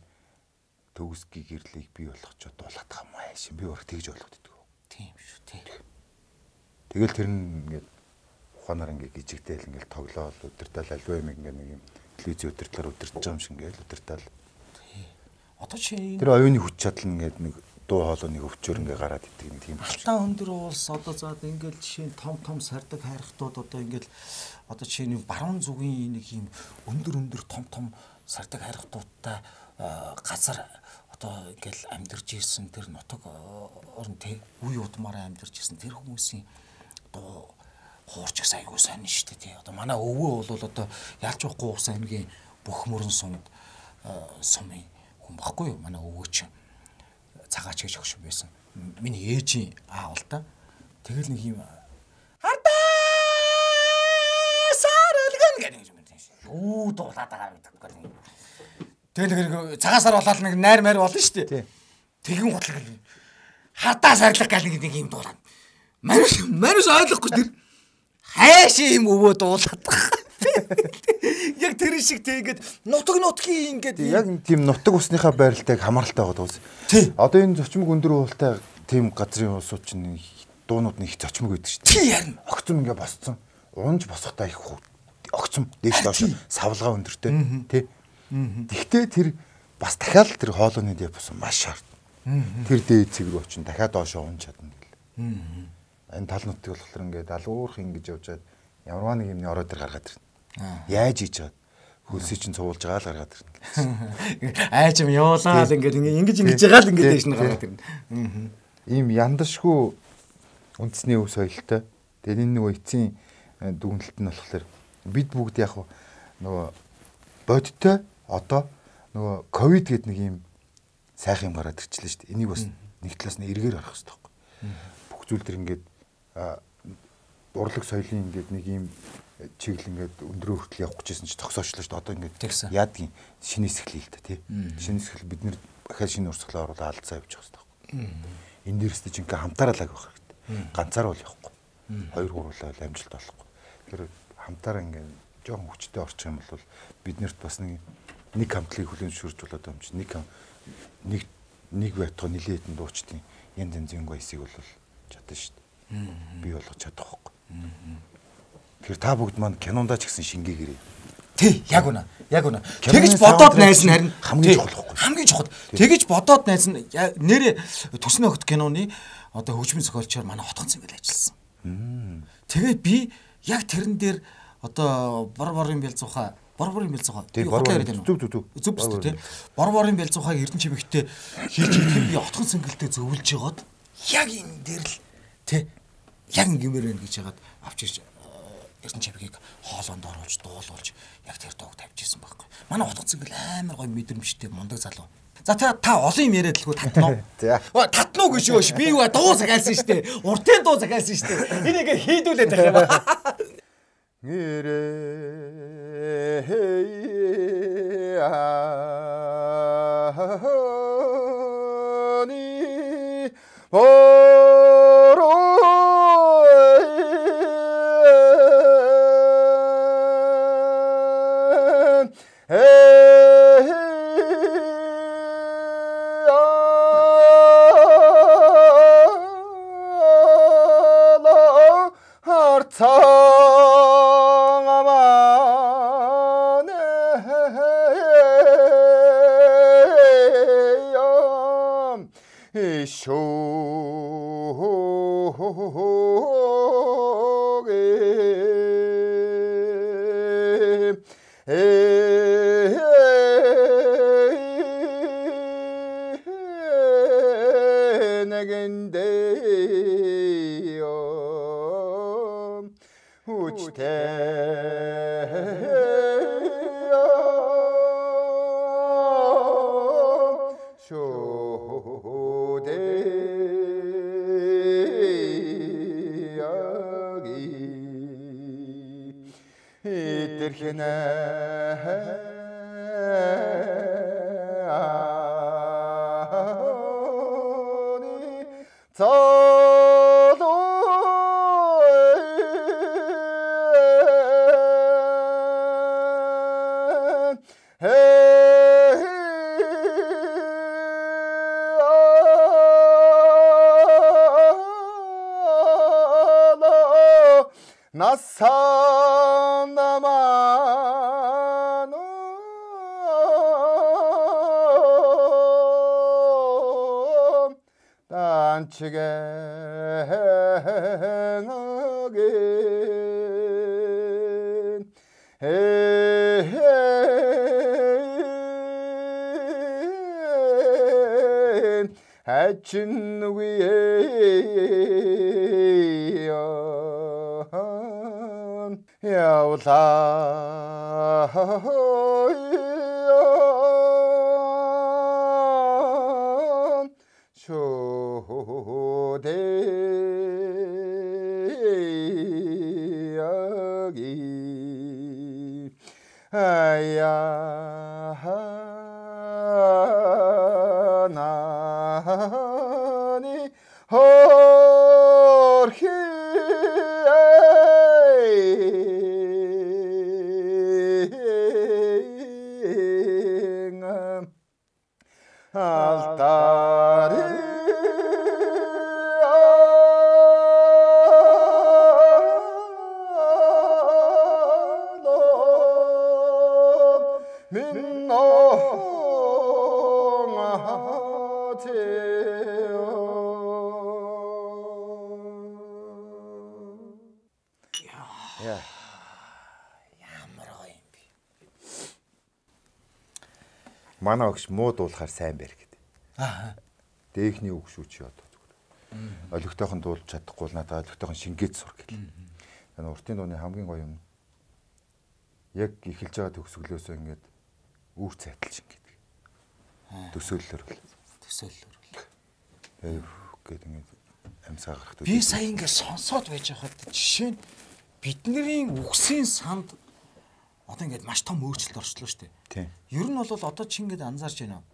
төгсгийн гэрлийг бий болгочод дуулаад байгаа юм ааш. Би өөр тэгж ойлгоод идэв. Тийм шүү тий. Тэгэл тэр нь ингээд ухаанаар ингээд гжигтэл ингээд тоглоол өдөртөл альва юм ингээд нэг юм телевизийн өдөртлөөр өдөрч байгаа юм шиг ингээд өдөртөл. Тий. Одоо чи тэр оюуны хүч чадал ингээд нэг дуу хоолойны өвчөр ингээ гараад идэг юм тийм. Алтан өндөр уулс одоо заад ингээл жишээ нь том том сардаг хайрхтууд одоо ингээл одоо жишээ нь баруун зүгийн нэг юм өндөр өндөр том том сардаг хайрхтуудтай газар одоо ингээл амьдарч ирсэн тэр нутаг орн тий үе удмаараа амьдарч ирсэн тэр хүмүүсийн одоо хуурч ус айгуу сайн шүү дээ тий. Одоо манай өвөө бол одоо ялч байхгүй ус аймгийн бүх мөрөн сумд сумын хүн баггүй юу манай өвөө чинь цагаач гэж өгш байсан. Миний ээжийн аав л да. Тэгэл нэг юм хардаа сарэлгэн гэдэг юм тийм шүү. Үү дуулаад байгаа гэдэг гэх юм. Тэгэл нэг цагаасаар болоод нэг найр майр болно шүү дээ. Тэгэн хутлаг хардаа сарлах гал нэг юм дуулаад. Манус манус ойлгохгүй тэр хайш юм өвөө дуулаад байгаа. Яг тэр шиг тэгээд нутаг нутгийн ингээд яг тийм нутаг усныхаа байралтайг хамааралтай байгаа дууз. Одоо энэ зочмог өндөр уултай тийм газрын улсууд чинь дуунууд нь их зочмог байдаг шүү. Тий ярина. Огцом ингээ босцсон. Унж босохтой их огцом дээш доош савлгаа өндөртэй тий. Тэгтээ тэр бас дахиад тэр хоолойны дээд бос маш шаард. Тэр дээд цэг рүү очин дахиад доошоо унж чадна гэл. Энэ тал нутгийг болохоор ингээд алуурх ингэж явжаад ямарваа нэг юмны ороод ир гаргаад ирнэ. Яаж хийж чад хөлсөй чинь цуулж байгаа л гаргаад ирнэ. Айч юм явуулаад ингээд ингэж ингэж байгаа л ингээд дэш нь гаргаад ирнэ. Ийм яндашгүй үндэсний өв соёлтой. Тэгээд энэ нөгөө эцсийн дүгнэлт нь болохоор бид бүгд яг нөгөө бодтой одоо нөгөө ковид гэдэг нэг юм сайхан юм гараад ирчихлээ шүү дээ. Энийг бас нэг талаас нь эргээр харах хэрэгтэй байхгүй. Бүх зүйл төр ингээд урлаг соёлын ингээд нэг юм чиглэл ингээд өндрөө хүртэл явах гэжсэн чи тогсоочлоо шүү дээ. Одоо ингээд яадгийн шинэ хэсгэлээ л да тий. Шинэ хэсгэл бид нэр дахиад шинэ урсгалаар оруулаад алдсаа явчих хэрэгтэй байхгүй. Энэ дээрс чинь ингээд хамтаараа л авах хэрэгтэй. Ганцаар бол явахгүй. Хоёр гурлаа амжилт олохгүй. Тэгэхээр хамтаараа ингээд жоохон хүчтэй орчих юм бол биднэрт бас нэг нэг хамтлагийг хүлээн зөвшөөрч болоод юм чи нэг нэг нэг байтугай нилээ хэдэн дуучдын янз янзын гоёсыг бол чадсан шүү дээ. Би болгож чадах байхгүй. Тэгэхээр та бүгд маань кинондаа ч гэсэн шингээгээрэй. Тий, яг үнэ. Яг үнэ. Тэгэж бодоод найз нь харин хамгийн чухал байхгүй. Хамгийн чухал. Тэгэж бодоод найз нь нэрээ Төсний огт киноны одоо хөгжмийн зохиолчоор манай Хотгон Цэнгэл ажилласан. Тэгээд би яг тэрэн дээр одоо бор борын бэлзуухай бор борын бэлзуухай би хотоо яриад байна. Зүг зүг зүг. Зүг зүг тий. Бор борын бэлзуухайг Эрдэнэ чимэгтэй хийж идэхэд би Хотгон Цэнгэлтэй зөвлөж жагаад яг энэ дээр л тий яг ингэмээр байна гэж яагаад авч ирж Эрдэнэ чимэгийг хоолоонд оруулж дуулуулж яг тэр доог тавьчихсан байхгүй. Манай Хотгон Цэнгэл амар гоё мэдрэмжтэй мундаг залуу. За та та олон юм яриад л хөө татнаа. За. Татнаа гэж юу ш. Би юу дуу захиалсан шүү дээ. Уртын дуу захиалсан шүү дээ. Энийг хийдүүлээд байгаа юм. Нэрэ хаяани боро орхи алтари манай огш муу дуулахаар сайн байр гэдэг. Аа. Дээхний үг шүү чи одоо зүгээр. Олигтойхон дуулж чадахгүй л надад олигтойхон шингээд сур гэл. Энэ уртын дууны хамгийн гоё юм. Яг эхэлж байгаа төгсгөлөөсөө ингээд үүр цайтал шингээд. Төсөөллөөр бол. Төсөөллөөр бол. Ээ гээд ингээд амьсгаа гарах төсөөл. Би сая ингээд сонсоод байж байхад жишээ нь бидний үгсийн санд одоо ингээд маш том өөрчлөлт орчлоо шүү дээ. Тийм. Ер нь бол одоо чи ингээд анзаарч байна уу?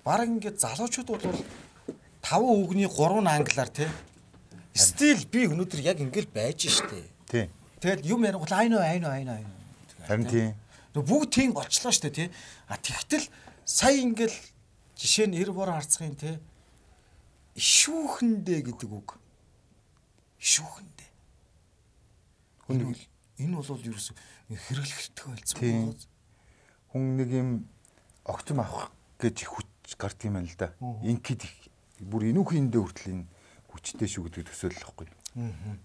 Бараг ингээд залуучууд бол таван үгний гурван англиар тий. Стил би өнөөдөр яг ингээд байж штэ. Тийм. Тэгэл юм ярингуул айно айно айно айно. Харин тийм. Нөгөө бүгд тийм болчлоо штэ тий. А тэгтэл сая ингээд жишээ нь эр бор харцгийн тий. Ишүүхэндээ гэдэг үг. Ишүүхэндээ. Хүн энэ бол ерөөсө хэрэглэхтэй болсон байна. Хүн нэг юм огцом авах гэж хүч гардаг юм байна л да. Инкид бүр энүүхийн дэ хүртэл энэ хүчтэй шүү гэдэг төсөөлөл واخгүй. Аа.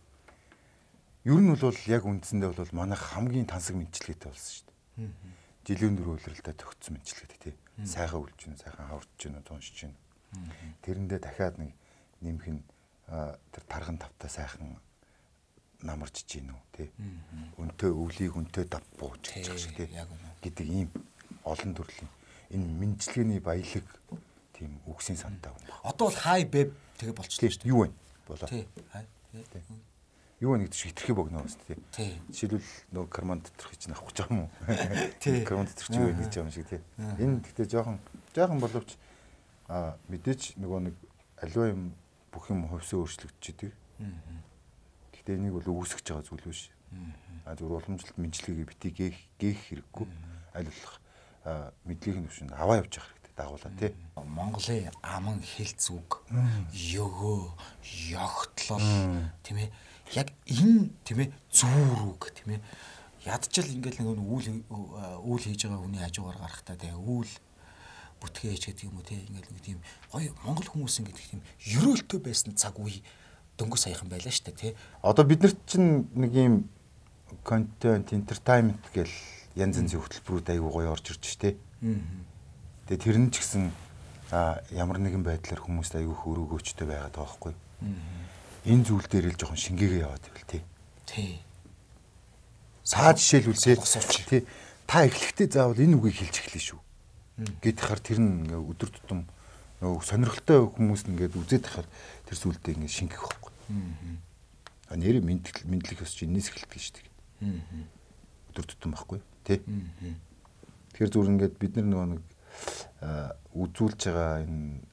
Ер нь бол яг үндсэндээ бол манайх хамгийн тансаг мэдчилгээтэй болсон шүү дээ. Аа. Жилийн дөрөв үйлрэлдэ төгссөн мэдчилгээтэй тий. Сайхан үлж гин, сайхан хаврж гин, дууншиж гин. Тэрэндээ дахиад нэг нэмэх нь тэр тарган тавтаа сайхан намарч гин үү тий. Өнтөө өвлийг өнтөө дав бууж гэж шиг тий. Гэдэг ийм олон төрлийн энэ мэдчилгээний баялаг тийм үгсийн сантай хүн. Одоо бол хай бэб тэгээ болчихлоо шүү дээ. Юу вэ? Болоо. Тий. Юу вэ гэдэг шиг хитрхи богноо бас тий. Жишээлбэл нөгөө карман доторх чинь авах гэж байгаа юм уу? Тий. Карман доторх чи юу гэж юм шиг тий. Энэ гэхдээ жоохон жоохон боловч а мэдээч нөгөө нэг аливаа юм бүх юм хувьсаа өөрчлөгдөж идэг. Гэхдээ энийг бол үүсгэж байгаа зүйл биш. А зөв уламжлалт мэдлэгийг битгий гээх гээх хэрэггүй. Аль болох мэдлэгийн төвшөнд аваа явж явах хэрэгтэй дагуулаа тий. Монголын аман хэлц үг, ёгөө, ёгтлол тийм ээ. Яг энэ тийм ээ зүүр үг тийм ээ. Ядчил ингээл нэг үйл үйл хийж байгаа хүний хажуугаар гарахтаа тий үйл бүтгэж гэдэг юм уу тий ингээл нэг тийм гоё монгол хүмүүс ингээд тийм ерөөлтөө байсан цаг үе дөнгөж саяхан байлаа шүү дээ тий. Одоо биднэрт чинь нэг юм контент entertainment гэл янз янзын хөтөлбөрүүд аягүй гоё орж ирж штэ. Тэгээ тэр нь ч гэсэн ямар нэгэн байдлаар хүмүүст аягүй хөрөөгөөчтэй байгаад байгаа байхгүй. Энэ зүйл дээр л жоохон шингээгээ яваад байвал тий. Тий. Саа жишээлбэл тий. Та эхлэхдээ заавал энэ үгийг хэлж эхлэе шүү. Гэт хахаар тэр нь өдөр тутам нөгөө сонирхолтой хүмүүс ингээд үзээд хахаар тэр зүйлдээ ингээд шингэх байхгүй. Аа. Нэр мэдлэг мэдлэг өсч энэс эхэлдэг шүү дээ. Аа. Өдөр тутам байхгүй тий. Тэгэхээр зүгээр ингээд бид нар нөгөө нэг үзүүлж байгаа энэ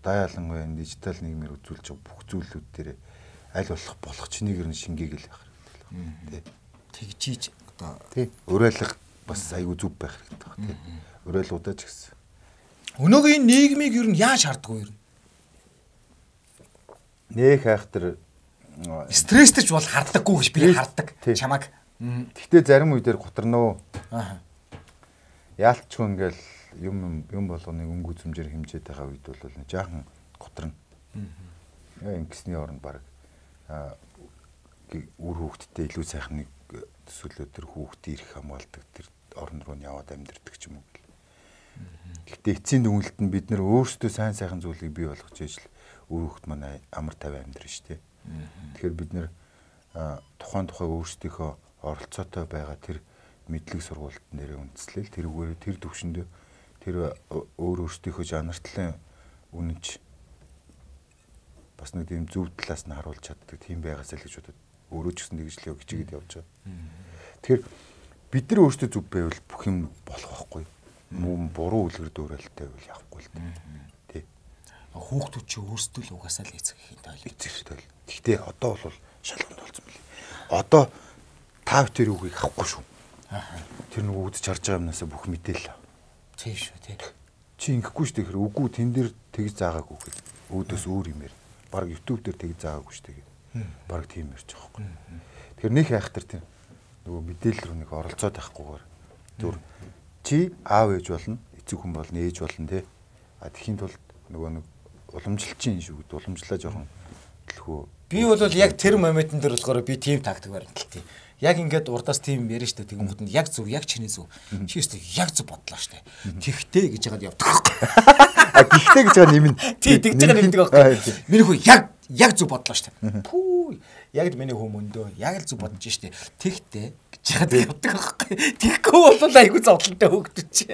даяалангуй энэ дижитал нийгмээр үзүүлж байгаа бүх зүйлүүд дээр аль болох болох чинийгэр нь шингээгээл байх хэрэгтэй тий. Тэгжиж одоо тий. Уриалга бас аягүй зүв байх хэрэгтэй баг тий. Уриалгуудаа ч гэсэн. Өнөөгийн нийгмийг ер нь яаж харддаг вэ ер нь? Нэх айхтар стресстэй ч бол харддаггүй гэж би харддаг чамаг. Гэхдээ зарим үедэр гутарнаа. Аа. Яалтчгүй ингээл юм юм болгоныг өнгө зүмжээр хэмжээд байгаа үед бол нэг жаахан гутрна. Аа. Ингэсний оронд баг аа үр хүүхдтэй илүү сайхан нэг төсөөлөө төр хүүхдээ ирэх хамгаалдаг тэр орон руу яваад амьдэрдэг ч юм уу. Гэхдээ эцсийн дүгнэлт нь бид нэр өөрсдөө сайн сайхан зүйлийг бий болгож ижил үр хүүхд манай амар тавиа амьдрын шүү дээ. Тэгэхээр бид нэр тухайн тухай өөрсдийнхөө оролцоотой байгаа тэр мэдлэг сургуульд нэрээ үндэслэл тэрүүгээр тэр төвшөндөө тэр өөр өөрсдийнхөө жанартлын үнэнч бас нэг тийм зөв талаас нь харуулж чаддаг тийм байгаасаа л гэж бодод өөрөө ч гэсэн тэгж л хичээгээд явж байгаа. Тэгэхээр бид нар өөрсдөө зүв байвал бүх юм болох байхгүй. Мөн буруу үлгэр дуурайлттай байвал явахгүй л дээ. Тий. хүүхдүүд чи өөрсдөө л угаасаа л эцэг эхийн тойл. Эцэг тойл. Гэхдээ одоо бол шалгуунд болсон мөлий. Одоо та бүхэн үгийг авахгүй шүү. Тэр нөгөө үдч харж байгаа юмнасаа бүх мэдээлэл. Тийм шүү тий. Чи ингэхгүй шүү тэгэхээр үгүй тэн дээр тэгж заагаагүй гэд. Өөдөөс өөр юм яар. Бараг YouTube дээр тэгж заагаагүй шүү тэгээд. Бараг тийм ярьж байгаа байхгүй. Тэгэхээр нэг хайхтар тийм нөгөө мэдээлэл рүү нэг оролцоод байхгүйгээр зүр чи аав ээж болно, эцэг хүн болно, ээж болно тий. А тэхийн тулд нөгөө нэг уламжлалчин шүү гэд уламжлаа жоохон төлхөө. Би бол яг тэр моментын дээр болохоор би тийм тактик баримталтай. Яг ингээд урдаас тийм ярина шүү дээ. Тэгэнгүүт нь яг зөв, яг чиний зөв. Чи өстө яг зөв бодлоо шүү дээ. Тэгтээ гэж яагаад явдаг байхгүй. А гихтээ гэж байгаа нэмнэ. Тий, тэгж байгаа нэмдэг байхгүй. Миний хүү яг яг зөв бодлоо шүү дээ. Пүү. Яг л миний хүү мөндөө. Яг л зөв бодож шүү дээ. Тэгтээ гэж яагаад явдаг байхгүй. Тэгхгүй бол айгүй зовлонтой хөөгдөж чи.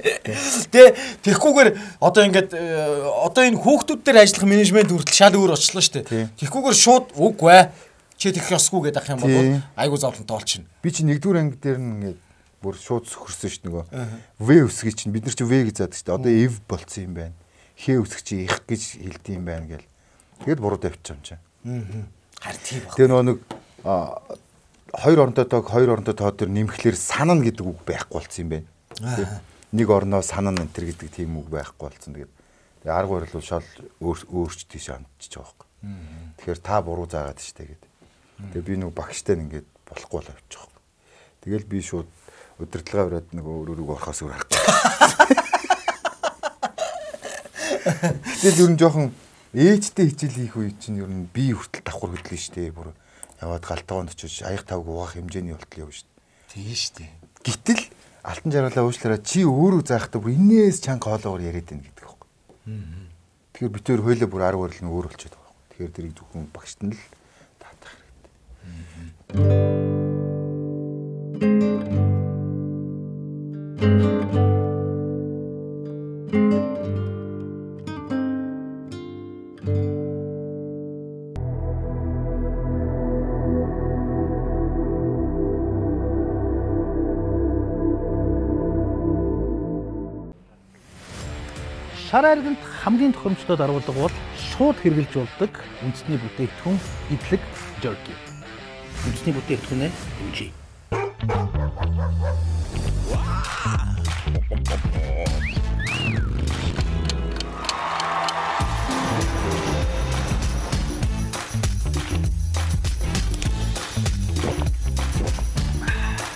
Тэ тэгхгүйгээр одоо ингээд одоо энэ хүүхдүүд дээр ажиллах менежмент хүртэл шал өөр очлоо шүү дээ. Тэгхгүйгээр шууд үгүй чи тэгэх ёсгүй гэдэг ах юм бол айгу зовлонтой болчихно. Би чи нэгдүгээр анги дээр нь ингээд бүр шууд сөхөрсөн шүү дээ нөгөө. В үсгийг чинь бид нар чи В гэж заадаг шүү дээ. Одоо эв болцсон юм байна. Х үсэг чи их гэж хэлдэг юм байна гэл. Тэгэд буруу тавьчих юм чинь. Аа. Харин тийм баг. Тэгээ нөгөө нэг хоёр оронтой тоог хоёр оронтой тоо дээр нэмэхлээр санана гэдэг үг байхгүй болцсон юм байна. Нэг орноо санана энэ төр гэдэг тийм үг байхгүй болцсон. Тэгээд тэгээ арга барил бол шал өөрч тийш амтчих байгаа байхгүй. Тэгэхээр та буруу заагаад штэ гэдэг. Тэгээ би нэг багштай ингээд болохгүй л авчих واخ. Тэгэл би шууд удирдлага бариад нөгөө өөр өөрөг орохоос өөр хахгүй. Тэгэл ер нь жоохон ээжтэй хичээл хийх үе чинь ер нь би хүртэл давхар хөдлөн штэ. Бүр яваад галтгоонд очиж аяг тавг угаах хэмжээний болтол явна штэ. Тийм штэ. Гэтэл алтан жаргалаа уушлаараа чи өөрөө заахтаа бүр инээс чанга хоолоогоор яриад байна гэдэг байхгүй. Тэгэхээр би тэр хойлоо бүр арга барил нь өөр болчиход байгаа байхгүй. Тэгэхээр тэрийг зөвхөн багшд нь л шар айрагт хамгийн тохиромжтой даруулга бол шууд хэрглэж болдог үндэсний бүтээгдэхүүн идэлэг jerky. Үндэсний бүтээгдэхүүнээ хэмжээ.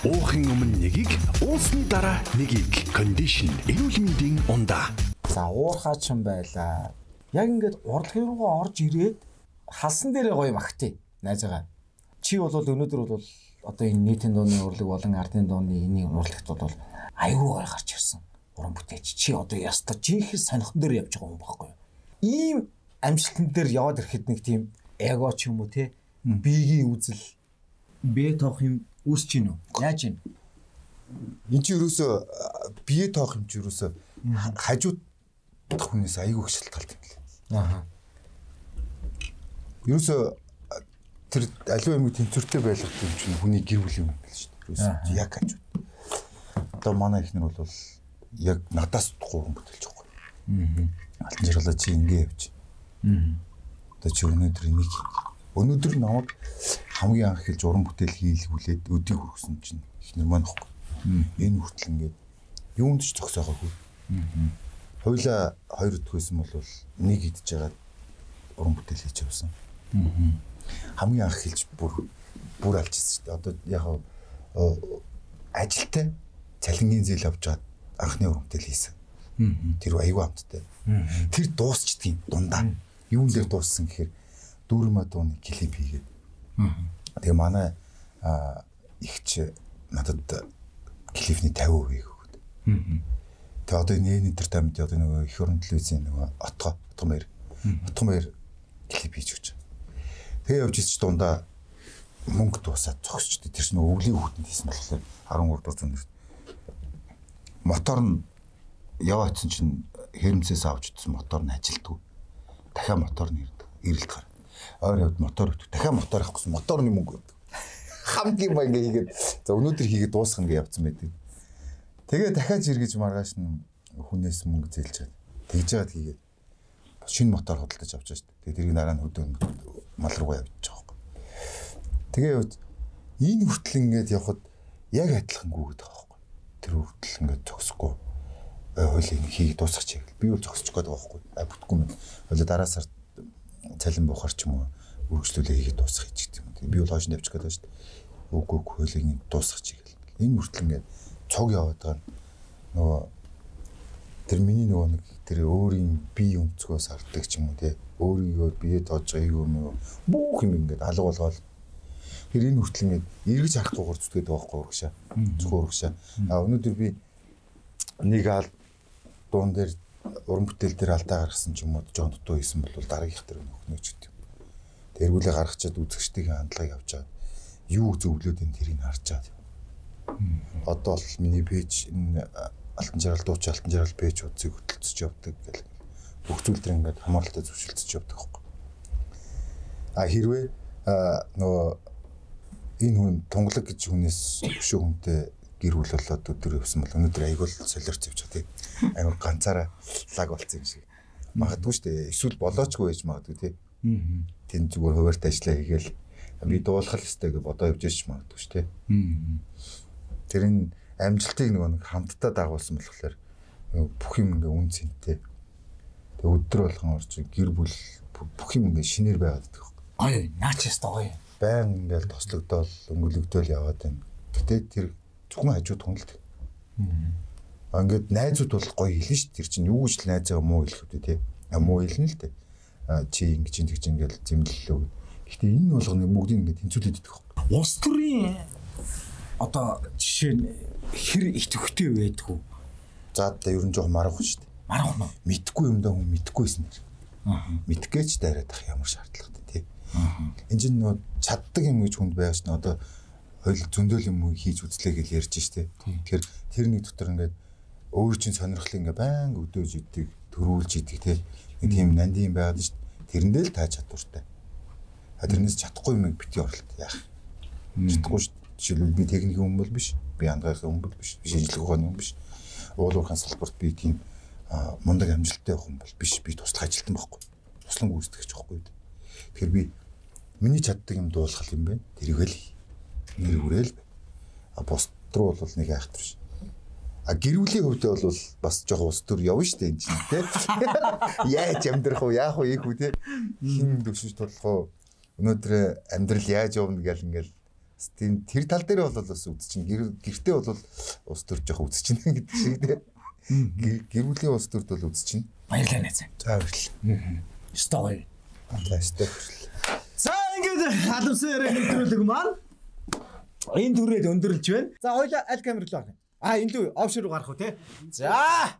Уухын өмнө нэгийг, уусны дараа нэгийг кондишн эрүүл мэндийн ундаа. За уурхаач юм байла. Яг ингээд урлагийн руугаа орж ирээд халсан дээрээ гоё магтъя. Найзаагаа. Чи бол өнөөдөр бол одоо энэ нийтийн дууны урлаг болон ардын дууны энийг урлагт бол аюу гой гарч ирсэн. Уран бүтээч. Чи одоо ястаа жинхэнэ сонихон дээр явж байгаа юм баггүй юу? Ийм амжилтан дээр яваад ирэхэд нэг тийм эго ч юм уу те биегийн үзэл бэ тоох юм үүсэж гин үү? Яаж гин? Энд чи юусоо бие тоох юм чи юусоо хажууд хүнээс аягүй их шалтгаалт юм лээ. Аа. Юусоо тэр аливаа юм тэнцвэртэй байлгах юм чинь хүний гэр бүл юм л шүү дээ. Юусоо яг хажууд. Одоо манай ихнэр бол яг надаас гурван бүтэлж байгаа. Аа. Алтан жаргалаа чи ингэ явж. Аа. Одоо чи өнөөдөр энийг өнөөдөр намайг хамгийн анх хэлж уран бүтээл хийлгүүлээд өдийг хүргэсэн чинь ихнэр маань ихгүй. Энэ хүртэл ингээд юунд ч зогсоогоогүй. Аа. Хойлоо хоёр өдөх байсан бол нэг идж байгаа уран бүтээл хийж явсан. Аа. Хамгийн анх хэлж бүр бүр алж ирсэн шүү дээ. Одоо яг ажилтай цалингийн зээл авч чад анхны уран бүтээл хийсэн. Аа. Тэр аюу амттай. Тэр дуусчдгийн дундаа юун дээр дууссан гэхээр дүүрмэ дууны клип хийгээд. Аа. Тэгээ манай ихч надад клипний пятьдесят процент өгөөд. Аа. Тэгээ одоо энэ интертеймент одоо нөгөө их орон телевизийн нөгөө отго отго мэр отго мэр клип хийж өгч. Тэгээ явж ирч дундаа мөнгө дуусаад зогсчихдээ тэр чинь өвлийн хүүтэнд хийсэн болохоор арван гурав дууссан нэр. Мотор нь яваадсан чинь хэрэмцээс авч идсэн мотор нь ажилдгүй. Дахиад мотор нь ирдэг. Ирэлт гар. Ойр явд мотор өгдөг. Дахиад мотор авахгүйсэн моторны мөнгө өгдөг. Хамгийн ба ингээ хийгээд за өнөөдөр хийгээд дуусгах ингээ явцсан байдаг. Тэгээ дахиад жиргэж маргааш нь хүнээс мөнгө зээлж чад. Тэгж жаад хийгээд шинэ мотор худалдаж авч байгаа шүү дээ. Тэгээ тэрийг дараа нь хөдөө мал руугаа явуулж байгаа байхгүй. Тэгээ энэ хүртэл ингээд явхад яг адилхан гүгээд байгаа байхгүй. Тэр хүртэл ингээд зогсохгүй хуулийн хийх дуусгах чиг. Би бол зогсож гээд байгаа байхгүй. А бүтггүй юм. Хуулиа дараа сард цалин бухар ч юм уу үргэлжлүүлээ хийгээд дуусгах гэж гэдэг юм. Би бол хойш нь явж гээд байгаа шүү дээ. Үгүй үгүй хуулийн дуусгах чиг. Энэ хүртэл ингээд цог яваад байгаа нөгөө тэр миний нөгөө нэг тэр өөрийн бие өнцгөөс арддаг ч юм уу те өөрийгөө бие тоож байгаа юм бүх юм ингээд алга болгоол тэр энэ хүртэл ингээд эргэж харахгүйгээр зүтгээд байгаа байхгүй урагшаа зөвхөн урагшаа а өнөөдөр би нэг ал дуун дээр уран бүтээл дээр алдаа гаргасан ч юм уу жоон дутуу хийсэн бол дараагийнх тэр нөхнөөч гэдэг юм тэргүүлээ гаргачаад үзэгчдийн хандлагыг авч чаад юу зөвлөд энэ тэрийг харж чаад одоо бол миний пэйж энэ алтан жаргал дууч алтан жаргал пэйж үзийг хөтөлцөж явдаг гэх бүх зүйл дээр ингээд хамааралтай зөвшөлдөж явдаг байхгүй. А хэрвээ нөгөө энэ хүн тунгалаг гэж хүнээс өшөө хүнтэй гэр бүл болоод өдөр явсан бол өнөөдөр айгуул солиорч явж байгаа тийм амар ганцаараа лаг болцсон юм шиг магадгүй шүү дээ. Эсвэл болоочгүй байж магадгүй тийм. Тэн зүгээр хуваарт ажиллаа хийгээл би дуулах ёстой гэж бодоо явж ш магадгүй шүү дээ. Тэр энэ амжилтыг нөгөө нэг хамтдаа дагуулсан болохоор бүх юм ингээ үн цэнтэй. Тэг өдөр болгон орж гэр бүл бүх юм ингээ шинээр байгаад байдаг. Ой, наачаас гоё. Баян ингээл тослогдоол өнгөлөгдөөл яваад байна. Гэтэ тэр зөвхөн хажууд хүнэлт. Аа ингээд найзууд бол гоё хэлнэ ш. Тэр чинь юу гэж л найзаа муу хэлэх үү те. А муу хэлнэ л те. А чи ингэж ингэж ингээл зэмлэлөө. Гэтэ энэ болгоны бүгдийг ингээ тэнцвүүлээд идэх байхгүй. Улс төрийн одоо жишээ нь хэр их төвхтэй байдгүй. За та ер нь жоох марах шүү дээ. Марах нь мэдхгүй юм даа хүн мэдхгүйсэн нэр. Аа. Мэдгээч дайраад ах ямар шаардлагатай тий. Аа. Энд чинь нөө чаддаг юм гэж хүнд байгаа ш нь одоо хойл зөндөөл юм хийж үзлээ гэж ярьж штэ. Тэгэхээр тэр нэг дотор ингээд өөр чинь сонирхлын ингээд баян өдөөж идэг, төрүүлж идэг тий. Нэг тийм нандин байгаад ш. Тэрэндээ л тааж чадвартай. А тэрнээс чадахгүй юм бити оролт яах. Чадахгүй ш. Жишээлбэл би техникийн хүн бол биш. Би андгайхын хүн бол биш. Би шинжлэх ухааны хүн биш. Уул уурхайн салбарт би тийм мундаг амжилттай хүн бол биш. Би туслах ажилтан байхгүй. Туслан гүйцэтгэгч байхгүй. Тэгэхээр би миний чаддаг юм дуулах юм байна. Тэрийг л нэр хүрээл. А бус руу бол нэг айхтар биш. А гэрүүлийн хөвдөө бол бас жоох ус төр явна штэ энэ чинь те. Яаж амьдрах вэ? Яах вэ? Ийх үү те. Хин төвшөж тудлах уу? Өнөөдөр амьдрал яаж явна гэл ингээл тийм тэр тал дээр бол бас үзчихин гэртээ бол ус төр жоох үзчихин гэдэг шиг те. Гэрүүлийн ус төрд бол үзчихин. Баярлалаа найз. За баярлалаа. Стой. Фантастик. За ингээд халамсан яриа нэвтрүүлэг маань энэ түрээд өндөрлж байна. За хоёлаа аль камер руу орно. А энэ лүү офшор руу гарах уу те. За